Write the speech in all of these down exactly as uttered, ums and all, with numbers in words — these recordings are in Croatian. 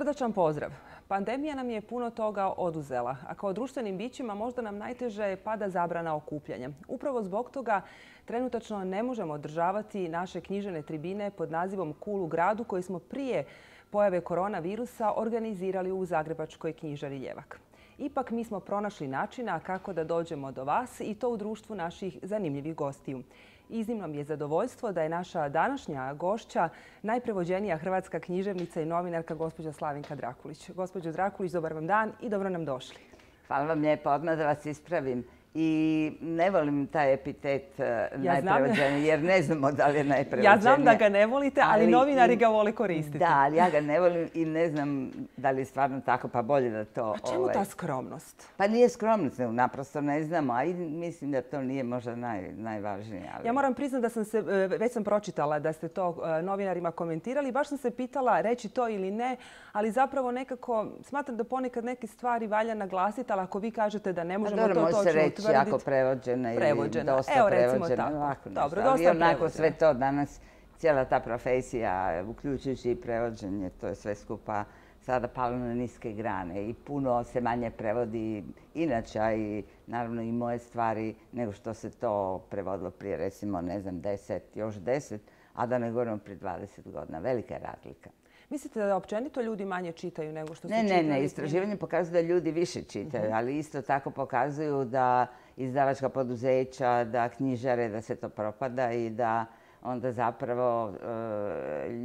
Srdačan pozdrav. Pandemija nam je puno toga oduzela, a kao društvenim bićima možda nam najteže pada zabrana okupljanja. Upravo zbog toga trenutačno ne možemo održavati naše književne tribine pod nazivom Kul u gradu koji smo prije pojave koronavirusa organizirali u Zagrebačkoj knjižari Ljevak. Ipak mi smo pronašli načina kako da dođemo do vas i to u društvu naših zanimljivih gostiju. Iznimno mi je zadovoljstvo da je naša današnja gošća najprevođenija hrvatska književnica i novinarka gospođa Slavinka Drakulić. Gospođo Drakulić, dobar vam dan i dobro nam došli. Hvala vam lijepo, odmah da vas ispravim. I ne volim taj epitet najprevođeniji jer ne znamo da li je najprevođenija. Ja znam da ga ne volite, ali novinari ga vole koristiti. Da, ali ja ga ne volim i ne znam da li je stvarno tako, pa bolje da to... A čemu ta skromnost? Pa nije skromnost, naprosto ne znamo, a mislim da to nije možda najvažnije. Ja moram priznati da sam se, već sam pročitala da ste to novinarima komentirali, baš sam se pitala reći to ili ne, ali zapravo nekako smatram da ponekad neke stvari valja naglasiti, ali ako vi kažete da ne možemo to točno utvrditi... jako prevođena ili dosta prevođena. Dobro, ali onako sve to danas, cijela ta profesija, uključujući i prevođenje, to je sve skupa sada palo na niske grane i puno se manje prevodi inače i naravno i moje stvari nego što se to prevodilo prije recimo ne znam deset, još deset, a da ne govorimo prije dvadeset godina. Velika je razlika. Mislite da općenito ljudi manje čitaju nego što su čitali? čitali? Ne, ne, istraživanje pokazuju da ljudi više čitaju, ali isto tako pokazuju da izdavačka poduzeća, da knjižare, da se to propada i da onda zapravo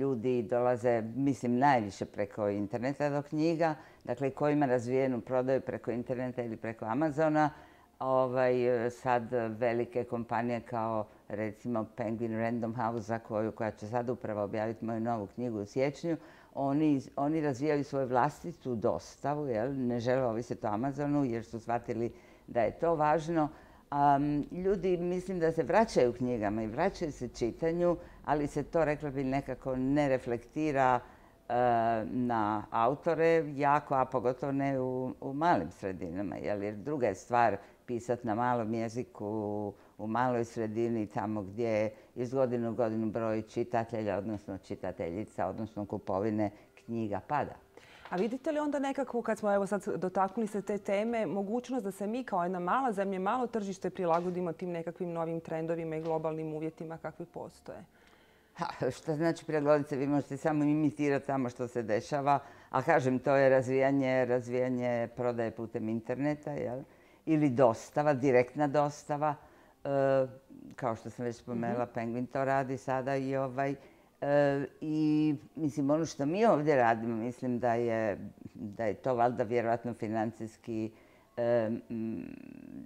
ljudi dolaze, mislim, najviše preko interneta do knjiga, dakle ko ima razvijenu prodaju preko interneta ili preko Amazona. Sad velike kompanije kao recimo Penguin Random House koja će sad upravo objaviti moju novu knjigu u siječnju, oni razvijaju svoju vlastitu dostavu, ne žele ovisiti o Amazonu jer su shvatili da je to važno. Ljudi mislim da se vraćaju knjigama i vraćaju se čitanju, ali se to, rekla bi, nekako ne reflektira na autore jako, a pogotovo ne u malim sredinama. Jer druga je stvar pisati na malom jeziku, u maloj sredini, tamo gdje iz godine u godinu broj čitatelja, odnosno čitateljica, odnosno kupovine knjiga pada. A vidite li onda nekako, kad smo evo sad dotaknuli se te teme, mogućnost da se mi kao jedna mala zemlja, malo tržište prilagodimo tim nekakvim novim trendovima i globalnim uvjetima kakvi postoje? Ha, što znači prilagoditi se? Vi možete samo imitirati tamo što se dešava, a kažem, to je razvijanje, razvijanje prodaje putem interneta, jel? Ili dostava, direktna dostava. E, kao što sam već spomenula, mm-hmm. Penguin to radi sada i ovaj... E, I mislim, ono što mi ovdje radimo, mislim da je, da je to valjda vjerojatno financijski e, m,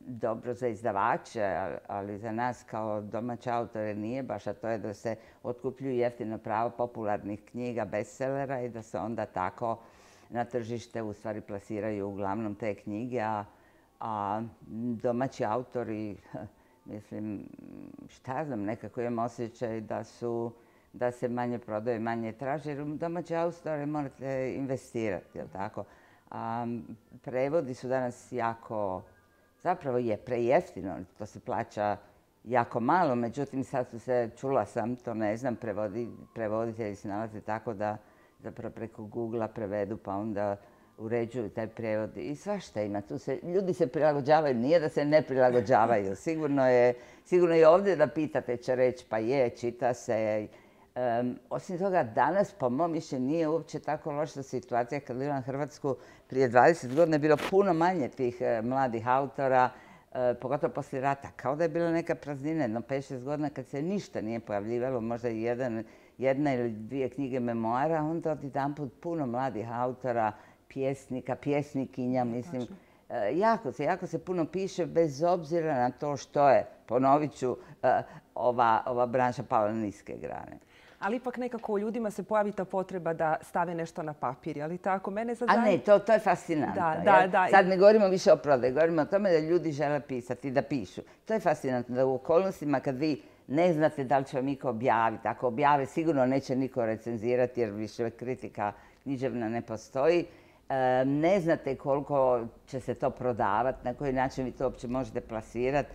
dobro za izdavače, ali za nas kao domaće autore nije baš, a to je da se otkupljuju jeftino pravo popularnih knjiga, bestsellera i da se onda tako na tržište u stvari plasiraju uglavnom te knjige, a, a domaći autori, mislim, šta znam, nekako imam osjećaj da su da se manje prodaje, manje traže, jer u domaće autore morate investirati, jel tako? A prevodi su danas jako, zapravo je prejeftino, to se plaća jako malo, međutim sad su se, čula sam, to ne znam, prevodi, prevoditelji se nalaze tako da zapravo preko Google-a prevedu pa onda uređuju taj prevod i svašta ima. Tu se, ljudi se prilagođavaju, nije da se ne prilagođavaju. Sigurno je, sigurno je ovdje da pitate će reći pa je, čita se. Um, osim toga, danas, po mom mišljenju, nije uopće tako loša situacija. Kad gledam Hrvatsku prije dvadeset godina je bilo puno manje tih uh, mladih autora, uh, pogotovo poslije rata. Kao da je bila neka praznina, jedno pet šest godina kad se ništa nije pojavljivalo, možda jedan, jedna ili dvije knjige memoara, onda odjedanput puno mladih autora, pjesnika, pjesnikinja, mislim. Uh, jako se, jako se puno piše bez obzira na to što je, ponovit ću, uh, ova, ova branša pala na niske grane. Ali ipak nekako u ljudima se pojavi ta potreba da stave nešto na papir, ali tako? Mene sad... A ne, to, to je fascinantno. Da, da, da. Sad ne govorimo više o prodaji, govorimo o tome da ljudi žele pisati, da pišu. To je fascinantno da u okolnostima kad vi ne znate da li će vam niko objaviti, ako objave sigurno neće niko recenzirati jer više kritika književna ne postoji. Ne znate koliko će se to prodavati, na koji način vi to uopće možete plasirati.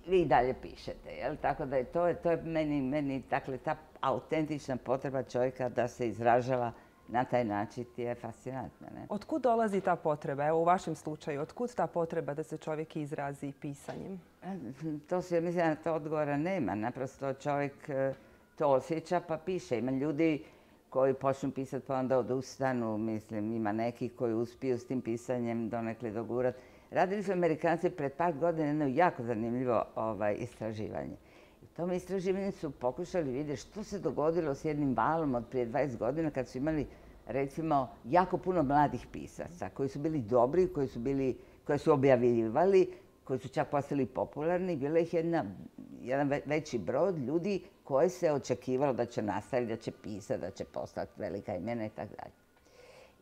Vi i dalje pišete, jel? Tako da je to, to je meni, meni dakle, ta autentična potreba čovjeka da se izražava na taj način ti je fascinantno. Ne? Otkud dolazi ta potreba? Evo u vašem slučaju, otkud ta potreba da se čovjek izrazi pisanjem? To se, mislim, na to odgovora nema. Naprosto čovjek to osjeća pa piše. Ima ljudi koji počnu pisati pa onda odustanu. Mislim, ima neki koji uspiju s tim pisanjem donekle dogurati. Radili su Amerikanci pred par godina jedno jako zanimljivo ovaj, istraživanje. U tom istraživanju su pokušali vidjeti što se dogodilo s jednim valom od prije dvadeset godina kad su imali recimo jako puno mladih pisaca koji su bili dobri, koji su, bili, koji su objavljivali, koji su čak postali popularni. Bilo ih jedna, jedan veći broj ljudi koje se očekivalo da će nastaviti, da će pisati, da će postati velika imena i tako dalje.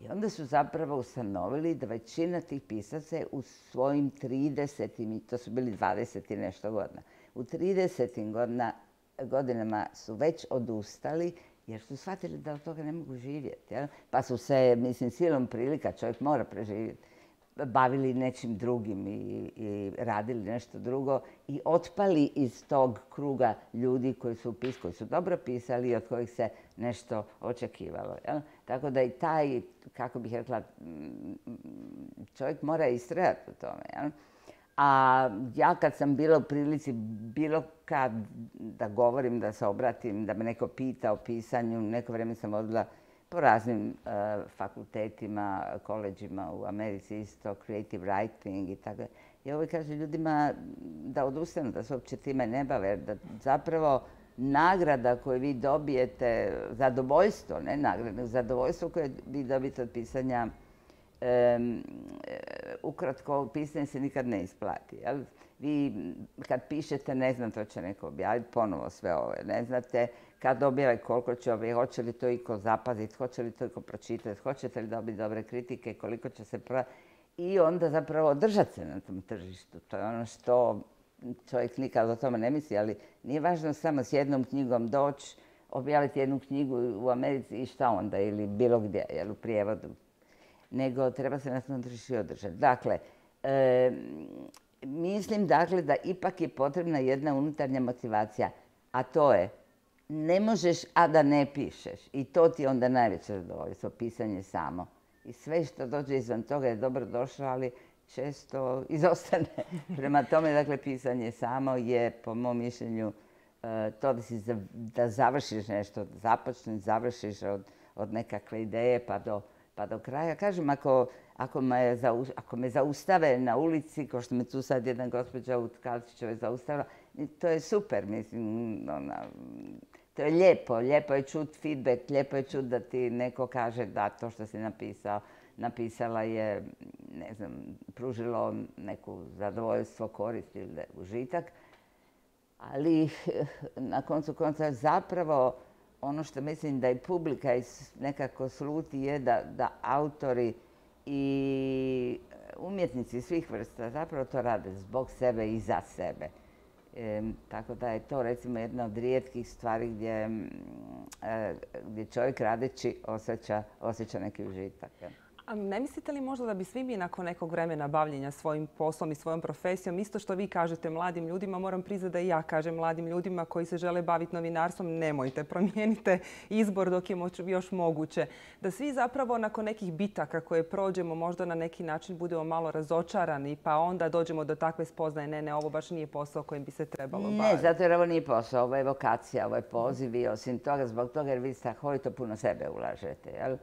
I onda su zapravo ustanovili da većina tih pisaca je u svojim tridesetim, to su bili dvadeset i nešto godina, u tridesetim godina, godinama su već odustali jer su shvatili da od toga ne mogu živjeti. Jel? Pa su se, mislim, silom prilika, čovjek mora preživjeti, bavili nečim drugim i, i radili nešto drugo i otpali iz tog kruga ljudi koji su, pis, koji su dobro pisali i od kojih se nešto očekivalo. Jel? Tako da i taj, kako bih rekla, čovjek mora istrajati u tome. Jel? A ja kad sam bila u prilici bilo kad da govorim, da se obratim, da me neko pita o pisanju, neko vrijeme sam vodila po raznim uh, fakultetima, koleđima u Americi isto, creative writing i tako. I uvijek kaže ljudima da odustanu, da se uopće time ne bave, da zapravo nagrada koju vi dobijete, zadovoljstvo, ne nagrada, zadovoljstvo koje vi dobijete od pisanja, um, ukratko, pisanje se nikad ne isplati. Jel? Vi kad pišete, ne znam, to će neko objaviti, ponovo sve ovo, ne znate kad objave koliko će objaviti, hoće li to iko zapaziti, hoće li to iko pročitati, hoćete li dobiti dobre kritike, koliko će se prodati. I onda zapravo održati se na tom tržištu. To je ono što čovjek nikad o tome ne misli, ali nije važno samo s jednom knjigom doći, objaviti jednu knjigu u Americi i šta onda, ili bilo gdje, jel, u prijevodu. Nego treba se na tom tržištu održati. Dakle, e, mislim dakle da ipak je potrebna jedna unutarnja motivacija, a to je ne možeš, a da ne pišeš. I to ti je onda najveće zadovoljstvo, pisanje samo. I sve što dođe izvan toga je dobro došlo, ali često izostane. Prema tome, dakle, pisanje samo je, po mom mišljenju, to da, si, da završiš nešto, da započneš, završiš od, od nekakve ideje pa do, pa do kraja. Kažem, ako, ako, me, ako me zaustave na ulici, kao što me tu sad jedna gospođa u Tkalčićevoj zaustavila, to je super, mislim, ona, to je lijepo, lijepo je čuti feedback, lijepo je čuti da ti neko kaže da to što si napisao, napisala je, ne znam, pružilo neku zadovoljstvo, korist ili užitak. Ali na koncu konca zapravo ono što mislim da i publika nekako sluti je da, da autori i umjetnici svih vrsta zapravo to rade zbog sebe i za sebe. E, tako da je to recimo jedna od rijetkih stvari gdje, e, gdje čovjek radeći osjeća, osjeća neki užitak. A ne mislite li možda da bi svi mi nakon nekog vremena bavljenja svojim poslom i svojom profesijom, isto što vi kažete mladim ljudima, moram priznati da i ja kažem mladim ljudima koji se žele baviti novinarstvom, nemojte, promijenite izbor dok je još moguće. Da svi zapravo nakon nekih bitaka koje prođemo možda na neki način budemo malo razočarani pa onda dođemo do takve spoznaje, ne, ne, ovo baš nije posao kojim bi se trebalo baviti. Ne, zato jer ovo nije posao, ovo je vokacija, ovo je poziv i osim toga zbog toga jer vi strahovito puno sebe ulažete, jel?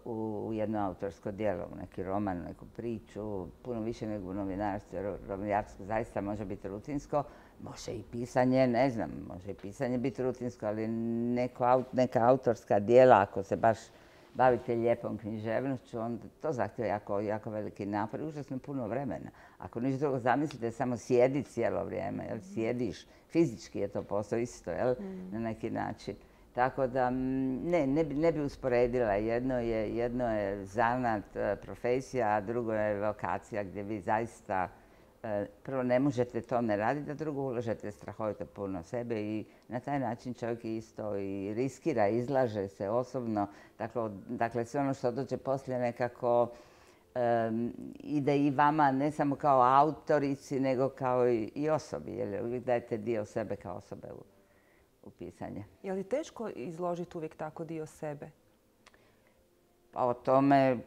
U jedno autorsko djelo, u neki roman, u neku priču, puno više nego u novinarstvu. Jer novinarstvo zaista može biti rutinsko, može i pisanje, ne znam, može i pisanje biti rutinsko, ali neko, neka autorska djela, ako se baš bavite lijepom književnošću, onda to zahtjeva jako, jako veliki napor i užasno puno vremena. Ako ništa drugo zamislite, samo sjedi cijelo vrijeme, jel? Sjediš, fizički je to posao isto, jel? Na neki način. Tako da ne, ne bi, ne bi usporedila. Jedno je, jedno je zanat, profesija, a drugo je vokacija gdje vi zaista prvo ne možete to ne raditi, a drugo ulažete strahovito puno sebe i na taj način čovjek isto i riskira, izlaže se osobno. Dakle, dakle sve ono što dođe poslije nekako um, ide i vama ne samo kao autorici, nego kao i, i osobi, jer uvijek dajete dio sebe kao osobe u u pisanje. Je li teško izložiti uvijek tako dio sebe? Pa o tome,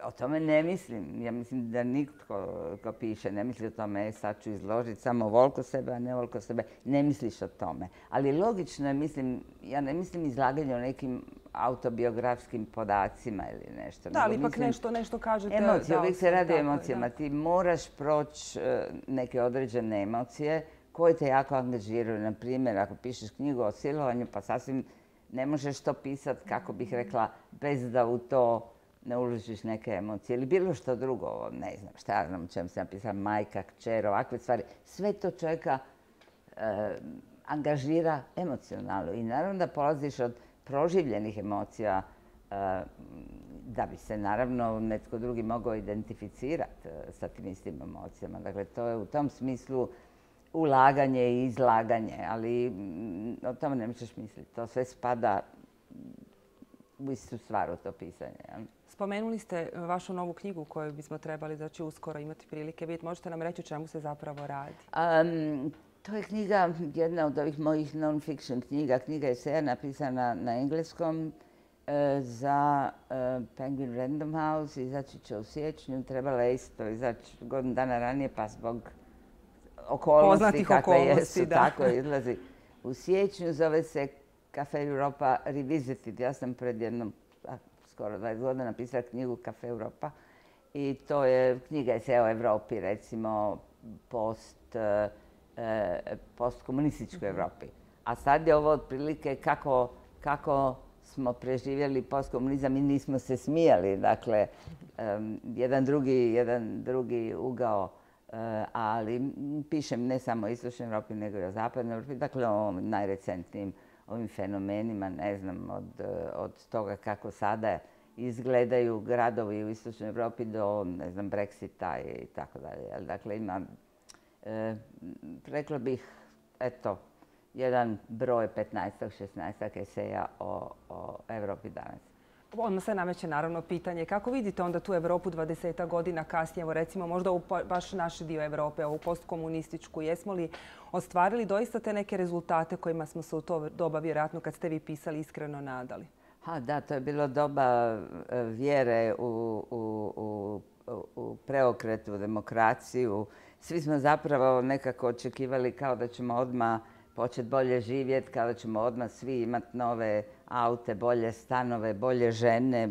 o tome ne mislim. Ja mislim da nitko ko piše ne misli o tome, e, sad ću izložiti samo voliko sebe, a ne voliko sebe. Ne misliš o tome. Ali logično je, mislim, ja ne mislim izlaganje o nekim autobiografskim podacima ili nešto. Da, ali ipak nešto, nešto kažete. Emocije, uvijek se radi o emocijama. Ti moraš proći neke određene emocije koje te jako angažiraju. Na primjer, ako pišeš knjigu o silovanju, pa sasvim ne možeš to pisati, kako bih rekla, bez da u to ne uložiš neke emocije. Ili bilo što drugo, ne znam, šta ja znam o čemu sam napisala, majka, kćer, ovakve stvari. Sve to čovjeka e, angažira emocionalno. I naravno da polaziš od proživljenih emocija e, da bi se naravno netko drugi mogao identificirati sa tim istim emocijama. Dakle, to je u tom smislu ulaganje i izlaganje, ali o tome ne možeš misliti. To sve spada u istu stvar u to pisanje. Ja. Spomenuli ste vašu novu knjigu koju bismo trebali znači, uskoro imati prilike vidjeti. Možete nam reći o čemu se zapravo radi? Um, to je knjiga, jedna od ovih mojih non-fiction knjiga. Knjiga je eseja napisana na engleskom e, za e, Penguin Random House. Izaći će u siječnju. Trebala je isto izaći godinu dana ranije, pa zbog okolnosti poznatih kakve okolnosti, jesu, da. tako izlazi u siječnju. Zove se Cafe Europa Revisited. Ja sam pred jednom, a, skoro dvadeset godina napisala knjigu Cafe Europa i to je knjiga eseja o Europi, recimo post, e, postkomunističkoj Europi. A sad je ovo otprilike kako, kako smo preživjeli postkomunizam i nismo se smijali. Dakle, um, jedan, drugi, jedan drugi ugao. Uh, ali pišem ne samo o istočnoj Europi, nego i o zapadnoj Europi. Dakle, o najrecentnijim ovim fenomenima, ne znam, od, od toga kako sada izgledaju gradovi u istočnoj Europi do, ne znam, Brexita i tako dalje. Dakle, ima, e, rekla bih, eto, jedan broj petnaestak, šesnaestak eseja o, o Europi danas. Odmah se nameće naravno pitanje kako vidite onda tu Europu dvadesetak godina kasnije, evo recimo možda u baš naš dio Europe, ovu postkomunističku. Jesmo li ostvarili doista te neke rezultate kojima smo se u to doba, vjerojatno kad ste vi pisali, iskreno nadali? Ha, da, to je bilo doba vjere u, u, u, u preokret, u demokraciju. Svi smo zapravo nekako očekivali kao da ćemo odmah početi bolje živjeti, kao da ćemo odmah svi imati nove aute, bolje stanove, bolje žene,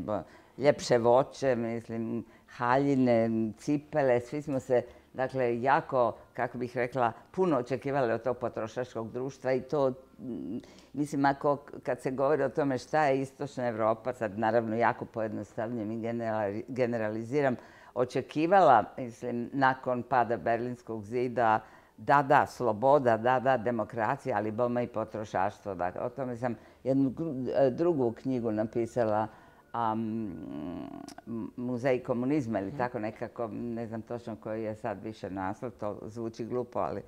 ljepše voće, mislim, haljine, cipele. Svi smo se, dakle, jako, kako bih rekla, puno očekivali od tog potrošačkog društva i to, mislim, ako kad se govori o tome šta je istočna Europa, sad naravno jako pojednostavljujem i generaliziram, očekivala, mislim, nakon pada Berlinskog zida, da, da, sloboda, da, da, demokracija, ali bome i potrošaštvo. Dakle, o tome sam jednu drugu knjigu napisala, um, Muzej komunizma ili tako nekako, ne znam točno koji je sad više naslov, to zvuči glupo, ali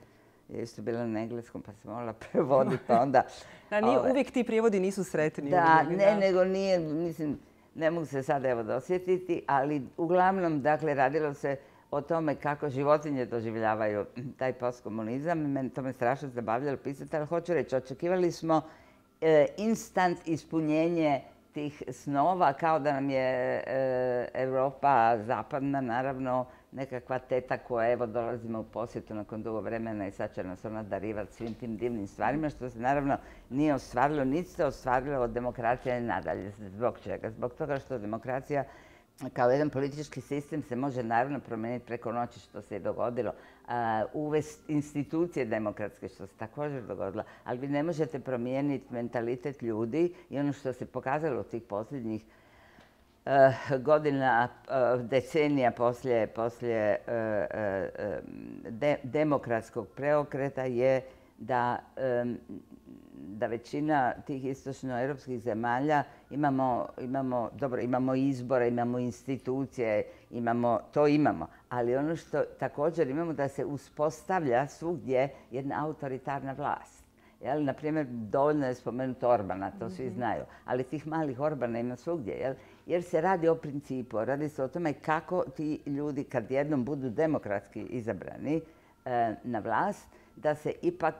je isto bila na engleskom pa sam morala prevoditi, pa onda... Da, nije, ove, uvijek ti prijevodi nisu sretni. Da, uvijek, ne, da. nego nije, mislim, ne mogu se sad evo dosjetiti, ali uglavnom, dakle, radilo se o tome kako životinje doživljavaju taj postkomunizam. Meni to me strašno zabavljalo pisati, ali hoću reći, očekivali smo e, instant ispunjenje tih snova, kao da nam je e, Europa zapadna, naravno, nekakva teta koja, evo, dolazimo u posjetu nakon dugo vremena i sad će nas ona darivati svim tim divnim stvarima, što se naravno nije ostvarilo, niti se ostvarilo od demokracije nadalje. Zbog čega? Zbog toga što demokracija kao jedan politički sistem se može naravno promijeniti preko noći, što se je dogodilo. Uvesti institucije demokratske, što se također dogodilo. Ali vi ne možete promijeniti mentalitet ljudi i ono što se pokazalo u tih posljednjih godina, decenija poslije, poslije de, demokratskog preokreta je da da većina tih istočnoeuropskih zemalja imamo, imamo, dobro, imamo izbore, imamo institucije, imamo, to imamo. Ali ono što također imamo da se uspostavlja svugdje jedna autoritarna vlast. Jel? Naprimjer, dovoljno je spomenuti Orbana, to svi znaju. Ali tih malih Orbana ima svugdje. Jel? Jer se radi o principu, radi se o tome kako ti ljudi kad jednom budu demokratski izabrani e, na vlast, da se ipak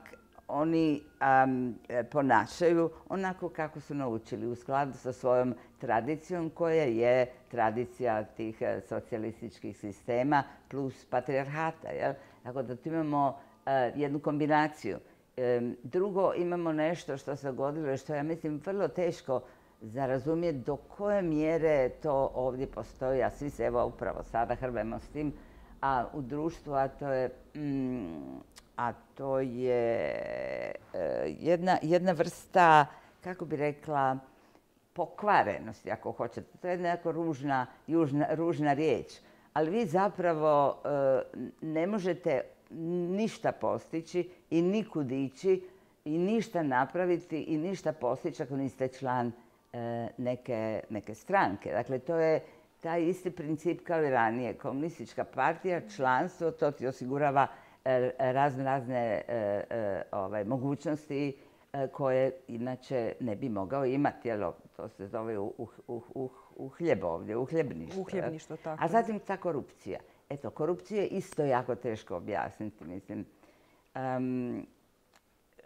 oni um, ponašaju onako kako su naučili, u skladu sa svojom tradicijom koja je tradicija tih socijalističkih sistema plus patrijarhata. Jel? Tako da tu imamo uh, jednu kombinaciju. Um, drugo, imamo nešto što se dogodilo i što ja mislim vrlo teško za razumjeti do koje mjere to ovdje postoji, a svi se evo upravo sada hrbemo s tim, a u društvu, a to je, mm, a to je uh, jedna, jedna vrsta, kako bi rekla, pokvarenosti, ako hoćete. To je jedna jako ružna, južna, ružna riječ. Ali vi zapravo uh, ne možete ništa postići i nikud ići i ništa napraviti i ništa postići ako niste član uh, neke, neke stranke. Dakle, to je taj isti princip kao i ranije. Komunistička partija, članstvo, to ti osigurava razne, razne uh, uh, ovaj, mogućnosti uh, koje inače ne bi mogao imati. Jel, to se zove uh, uh, uh, uhljeb ovdje, uhljebništvo. Uhljebništvo, tako. A zatim ta korupcija. Eto, korupciju je isto jako teško objasniti, mislim. Um,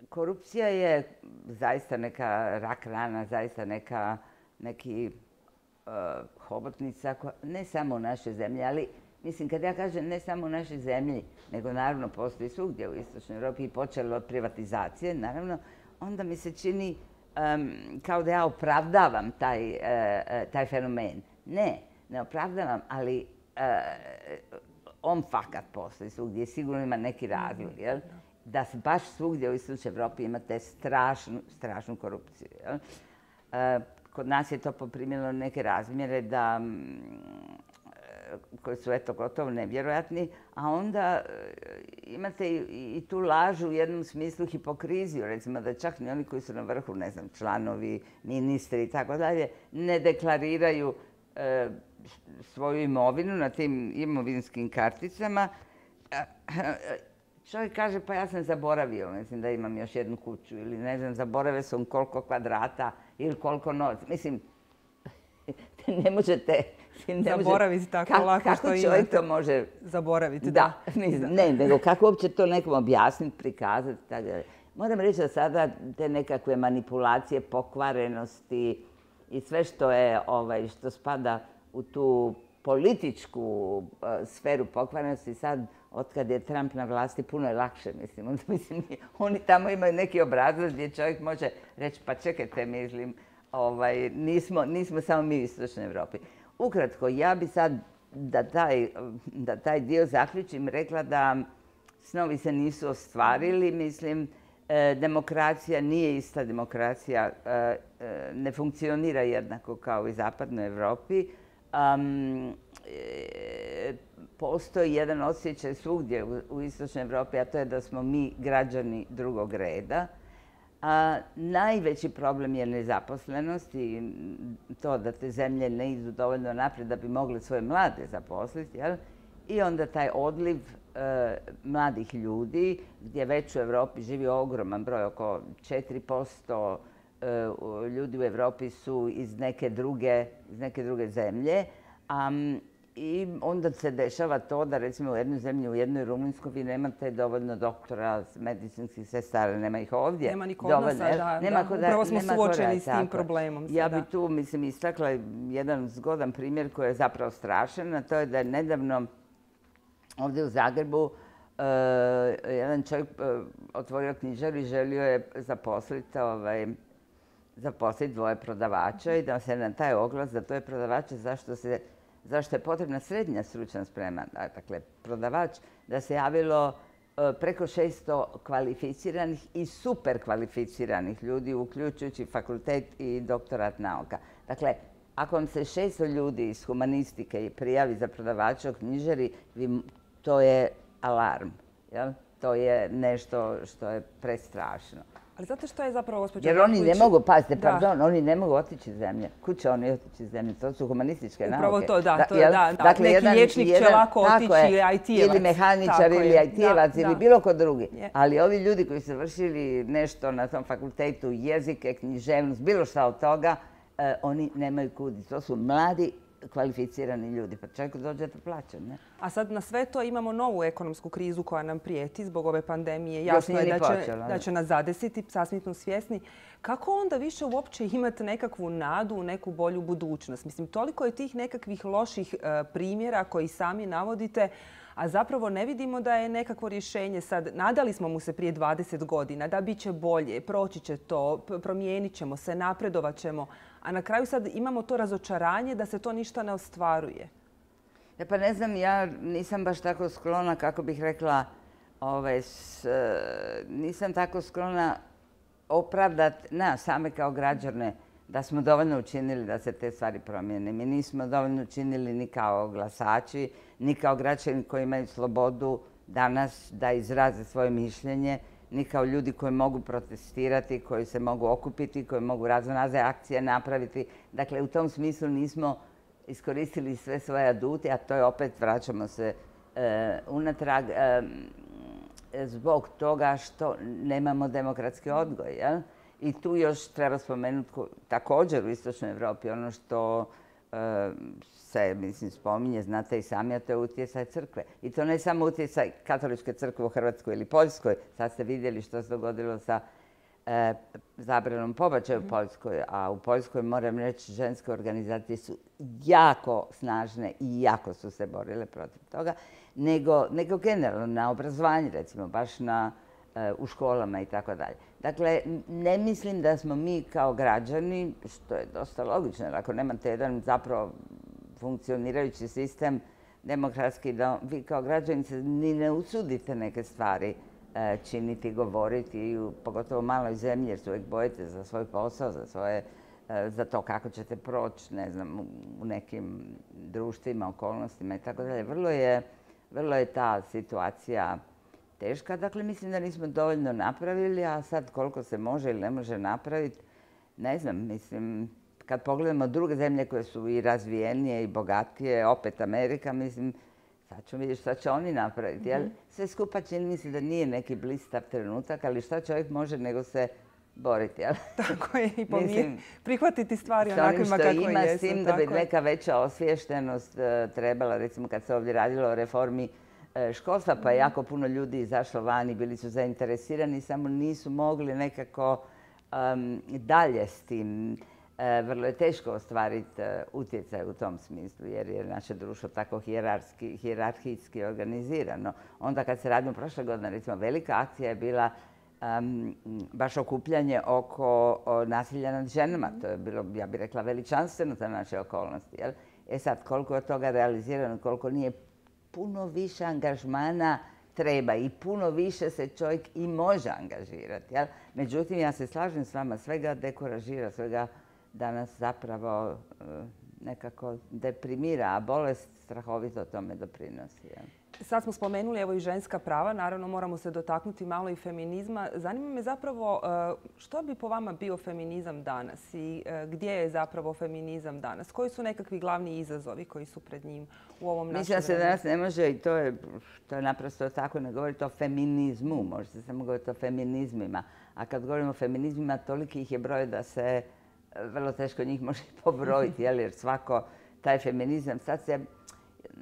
korupcija je zaista neka rak rana, zaista neka, neki uh, hobotnica, koja, ne samo u našoj zemlji, ali mislim, kad ja kažem ne samo u našoj zemlji, nego naravno postoji svugdje u Istočnoj Europi i počelo od privatizacije, naravno, onda mi se čini um, kao da ja opravdavam taj, uh, taj fenomen. Ne, ne opravdavam, ali uh, on fakat postoji svugdje, sigurno ima neki razlog, jel? Da baš svugdje u Istočnoj Europi imate strašnu, strašnu korupciju. Jel? Uh, kod nas je to poprimilo neke razmjere da koji su eto gotovo nevjerojatni, a onda imate i, i tu lažu u jednom smislu hipokriziju, recimo da čak ni oni koji su na vrhu, ne znam, članovi, ministri i tako dalje, ne deklariraju e, svoju imovinu na tim imovinskim karticama. Čovjek kaže, pa ja sam zaboravio, mislim da imam još jednu kuću ili ne znam, zaboravio sam koliko kvadrata ili koliko novca. Mislim, ne možete... Zaboraviti tako ka, lako što imate. Kako čovjek to može... Zaboraviti, da. da. Mislim, ne, nego kako uopće to nekom objasniti, prikazati. Tako. Moram reći da sada te nekakve manipulacije, pokvarenosti i sve što je, ovaj, što spada u tu političku uh, sferu pokvarenosti, sad, otkad je Trump na vlasti, puno je lakše, mislim. Onda, mislim, oni tamo imaju neki obrazac gdje čovjek može reći, pa čekajte, mislim, ovaj, nismo, nismo samo mi u Istočnoj Europi. Ukratko, ja bi sad, da taj, da taj dio zaključim, rekla da snovi se nisu ostvarili. Mislim, e, demokracija nije ista demokracija, e, e, ne funkcionira jednako kao i u Zapadnoj Europi. Um, e, postoji jedan osjećaj svugdje u, u Istočnoj Europi, a to je da smo mi građani drugog reda. A najveći problem je nezaposlenost i to da te zemlje ne idu dovoljno naprijed da bi mogle svoje mlade zaposliti. Jel? I onda taj odliv e, mladih ljudi, gdje već u Europi živi ogroman broj, oko četiri posto e, ljudi u Europi su iz neke druge, iz neke druge zemlje. A, I onda se dešava to da recimo u jednoj zemlji, u jednoj Rumunjskoj, vi nemate dovoljno doktora, medicinskih sestara, nema ih ovdje. Nema ni kod nas, da, nema da. Upravo smo suočeni s tim problemom. Ja bi tu, mislim, istakla jedan zgodan primjer koji je zapravo strašan, a to je da je nedavno ovdje u Zagrebu uh, jedan čovjek uh, otvorio knjižaru i želio je zaposliti ovaj, zaposliti dvoje prodavača i da se na taj oglas za dvoje prodavača zašto se zašto je potrebna srednja stručna sprema, dakle prodavač, da se javilo preko šesto kvalificiranih i super kvalificiranih ljudi, uključujući fakultet i doktorat nauka. Dakle, ako vam se šesto ljudi iz humanistike prijavi za prodavača u knjižari, to je alarm. Jel? To je nešto što je prestrašno. Ali zato što je zapravo, gospođa... Jer oni ne mogu, pazite, pardon, oni ne mogu otići iz zemlje. Kud će oni otići iz zemlje? To su humanističke nauke. Upravo to, da. To je, da, da. Neki liječnik će lako otići ili I T-evac. Ili mehaničar, ili I T-evac, ili bilo ko drugi. Ali ovi ljudi koji su vršili nešto na tom fakultetu, jezike, književnost, bilo šta od toga, oni nemaju kud. To su mladi kvalificirani ljudi. Pa čovjeku dođete plaćen, ne? A sad na sve to imamo novu ekonomsku krizu koja nam prijeti zbog ove pandemije. Jasno je da će, da će nas zadesiti, sasvim smo svjesni. Kako onda više uopće imati nekakvu nadu u neku bolju budućnost? Mislim, toliko je tih nekakvih loših primjera koji sami navodite, a zapravo ne vidimo da je nekakvo rješenje sad. Nadali smo mu se prije dvadeset godina da bit će bolje, proći će to, promijenit ćemo se, napredovat ćemo. A na kraju sad imamo to razočaranje da se to ništa ne ostvaruje. Ja pa ne znam, ja nisam baš tako sklona, kako bih rekla, ovaj, s, nisam tako sklona opravdati nas same kao građane da smo dovoljno učinili da se te stvari promijene. Mi nismo dovoljno učinili ni kao glasači, ni kao građani koji imaju slobodu danas da izraze svoje mišljenje, ni kao ljudi koji mogu protestirati, koji se mogu okupiti, koji mogu raznorazne akcije napraviti. Dakle, u tom smislu nismo iskoristili sve svoje adute, a to je opet, vraćamo se e, unatrag, e, zbog toga što nemamo demokratski odgoj. Jel? I tu još treba spomenuti također u Istočnoj Europi ono što e, se, mislim, spominje, znate i sami, a to je utjecaj crkve. I to ne samo utjecaj katoličke crkve u Hrvatskoj ili Poljskoj. Sad ste vidjeli što se dogodilo sa e, zabranom pobačaja u Poljskoj. A u Poljskoj, moram reći, ženske organizacije su jako snažne i jako su se borile protiv toga. Nego, nego generalno na obrazovanju, recimo, baš na, e, u školama i tako dalje. Dakle, ne mislim da smo mi kao građani, što je dosta logično, jer ako nemate jedan zapravo funkcionirajući sistem demokratski, da vi kao građani se ni ne usudite neke stvari e, činiti, govoriti, pogotovo u maloj zemlji, jer se uvijek bojite za svoj posao, za, svoje, e, za to kako ćete proći, ne znam, u nekim društvima, okolnostima i tako dalje. Vrlo je, vrlo je ta situacija teška. Dakle, mislim da nismo dovoljno napravili, a sad koliko se može ili ne može napraviti, ne znam, mislim, kad pogledamo druge zemlje koje su i razvijenije i bogatije, opet Amerika, mislim, sad ćemo vidjeti šta će oni napraviti. Mm-hmm. Sve skupa čini mi se da nije neki blistav trenutak, ali šta čovjek može nego se boriti. Jel? Tako je, i mislim, prihvatiti stvari onakvima kako jesu. Ima s tim da bi neka veća osviještenost uh, trebala, recimo kad se ovdje radilo o reformi uh, školstva, pa je jako puno ljudi izašlo van i bili su zainteresirani, samo nisu mogli nekako um, dalje s tim. Vrlo je teško ostvariti utjecaj u tom smislu, jer je naše društvo tako hijerarhijski organizirano. Onda kad se radimo prošle godine, recimo, velika akcija je bila um, baš okupljanje oko nasilja nad ženama. To je bilo, ja bih rekla, veličanstveno za naše okolnosti. Jel? E sad, koliko je od toga realizirano, koliko nije, puno više angažmana treba i puno više se čovjek i može angažirati. Jel? Međutim, ja se slažem s vama, svega dekoražira, svega danas zapravo nekako deprimira, a bolest strahovito tome doprinosi. Ja. Sad smo spomenuli evo i ženska prava, naravno moramo se dotaknuti malo i feminizma. Zanima me zapravo što bi po vama bio feminizam danas i gdje je zapravo feminizam danas? Koji su nekakvi glavni izazovi koji su pred njim u ovom našem Mislim da se danas ne može, i to je, to je naprosto tako, ne govoriti o feminizmu, može se samo govoriti o feminizmima. A kad govorimo o feminizmima, toliki ih je broj da se vrlo teško njih može pobrojiti, jer svako taj feminizam, sad se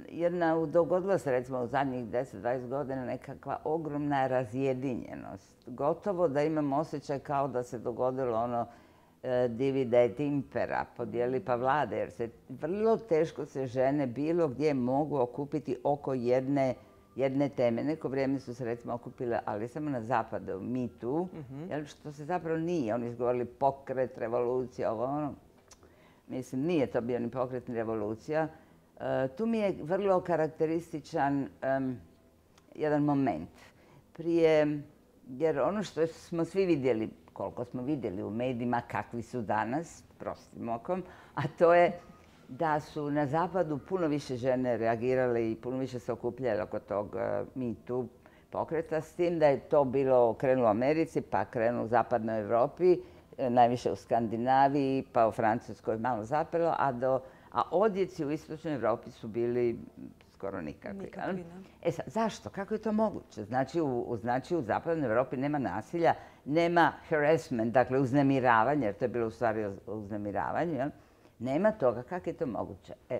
jedna, dogodilo se recimo u zadnjih deset do dvadeset godina nekakva ogromna razjedinjenost. Gotovo da imam osjećaj kao da se dogodilo ono divide et impera, podijeli pa vlade, jer se vrlo teško se žene bilo gdje mogu okupiti oko jedne jedne teme. Neko vrijeme su se recimo okupile, ali samo na zapadu, Me Too, mm-hmm. što se zapravo nije. Oni su govorili pokret, revolucija, ovo ono. Mislim, nije to bio ni pokret ni revolucija. E, tu mi je vrlo karakterističan um, jedan moment. Prije, jer ono što smo svi vidjeli, koliko smo vidjeli u medijima, kakvi su danas, prostim okom, a to je da su na zapadu puno više žene reagirale i puno više se okupljale oko tog Me Too pokreta, s tim da je to bilo krenulo u Americi, pa krenulo u zapadnoj Europi, najviše u Skandinaviji, pa u Francuskoj malo zapelo, a, do, a odjeci u istočnoj Europi su bili skoro nikakvi. Nikakvi, e sad, zašto? Kako je to moguće? Znači u, znači u zapadnoj Europi nema nasilja, nema harassment, dakle uznemiravanje, jer to je bilo u stvari uznemiravanje, jel? Nema toga. Kako je to moguće? E,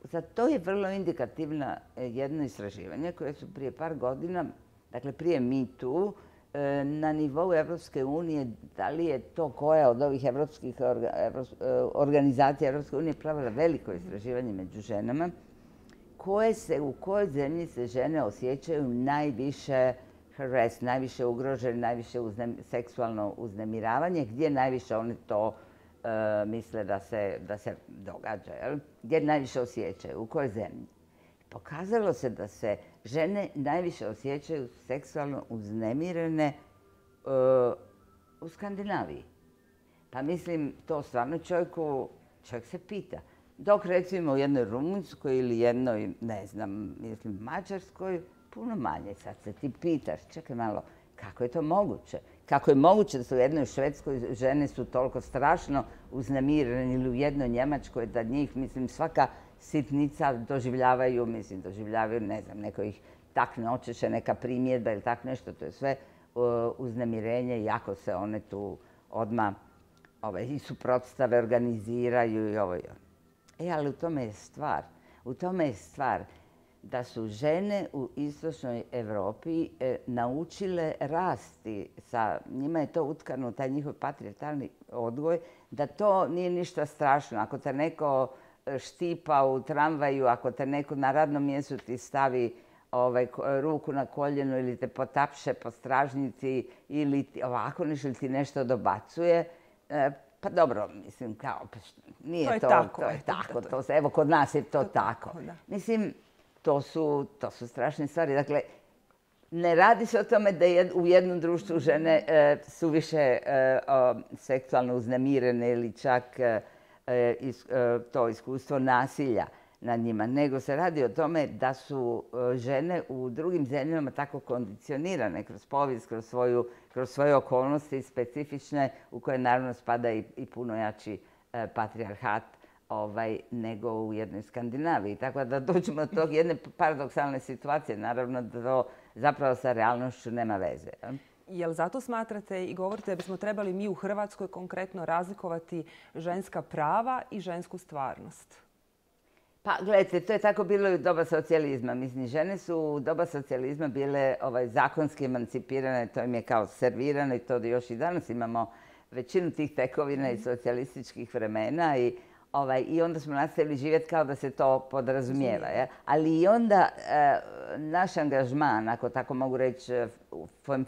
za to je vrlo indikativno jedno istraživanje koje su prije par godina, dakle prije Me Too, na nivou Evropske unije, da li je to koja od ovih evropskih organizacija Evropske unije pravila veliko istraživanje među ženama, koje se, u kojoj zemlji se žene osjećaju najviše harassed, najviše ugrožene, najviše uznem, seksualno uznemiravanje, gdje najviše one to e, misle da se, da se događa, jel? Gdje najviše osjećaju, u kojoj zemlji. Pokazalo se da se žene najviše osjećaju seksualno uznemirene e, u Skandinaviji. Pa mislim, to stvarno čovjeku, čovjek se pita. Dok recimo u jednoj Rumunjskoj ili jednoj, ne znam, mislim, Mađarskoj, puno manje. Sad se ti pitaš, čekaj malo, kako je to moguće? Kako je moguće da su u jednoj Švedskoj žene su toliko strašno uznemirene ili u jednoj Njemačkoj da njih, mislim, svaka sitnica doživljavaju, mislim, doživljavaju, ne znam, neko ih takne očeše, neka primjedba ili tak nešto, to je sve uh, uznemirenje, jako se one tu odmah ovaj, i suprotstave organiziraju i ovo i ovo. E, ali u tome je stvar. U tome je stvar da su žene u istočnoj Europi e, naučile rasti sa, njima je to utkano, taj njihov patrijarhalni odgoj, da to nije ništa strašno. Ako te neko štipa u tramvaju, ako te neko na radnom mjestu ti stavi ovaj, ruku na koljeno ili te potapše po stražnici ili ti, ovako nešto ili ti nešto dobacuje, e, pa dobro, mislim, kao, pa nije to. Je to, tako, to je eto, tako, to je. to se, evo kod nas je to, to tako. tako da. Mislim, to su, to su strašne stvari. Dakle, ne radi se o tome da je u jednom društvu žene e, su više e, o, seksualno uznemirene ili čak e, is, e, to iskustvo nasilja nad njima, nego se radi o tome da su e, žene u drugim zemljama tako kondicionirane kroz povijest, kroz, svoju, kroz svoje okolnosti specifične u koje naravno spada i, i puno jači e, patrijarhat ovaj, nego u jednoj Skandinaviji. Tako da dođemo do tog jedne paradoksalne situacije. Naravno da to zapravo sa realnošću nema veze. Jel zato smatrate i govorite da bismo trebali mi u Hrvatskoj konkretno razlikovati ženska prava i žensku stvarnost? Pa gledajte, to je tako bilo i u doba socijalizma. Mislim, žene su u doba socijalizma bile ovaj, zakonski emancipirane, to im je kao servirano i to da još i danas imamo većinu tih tekovina iz socijalističkih vremena i Ovaj, I onda smo nastavili živjeti kao da se to podrazumijeva. Ja? Ali i onda e, naš angažman, ako tako mogu reći,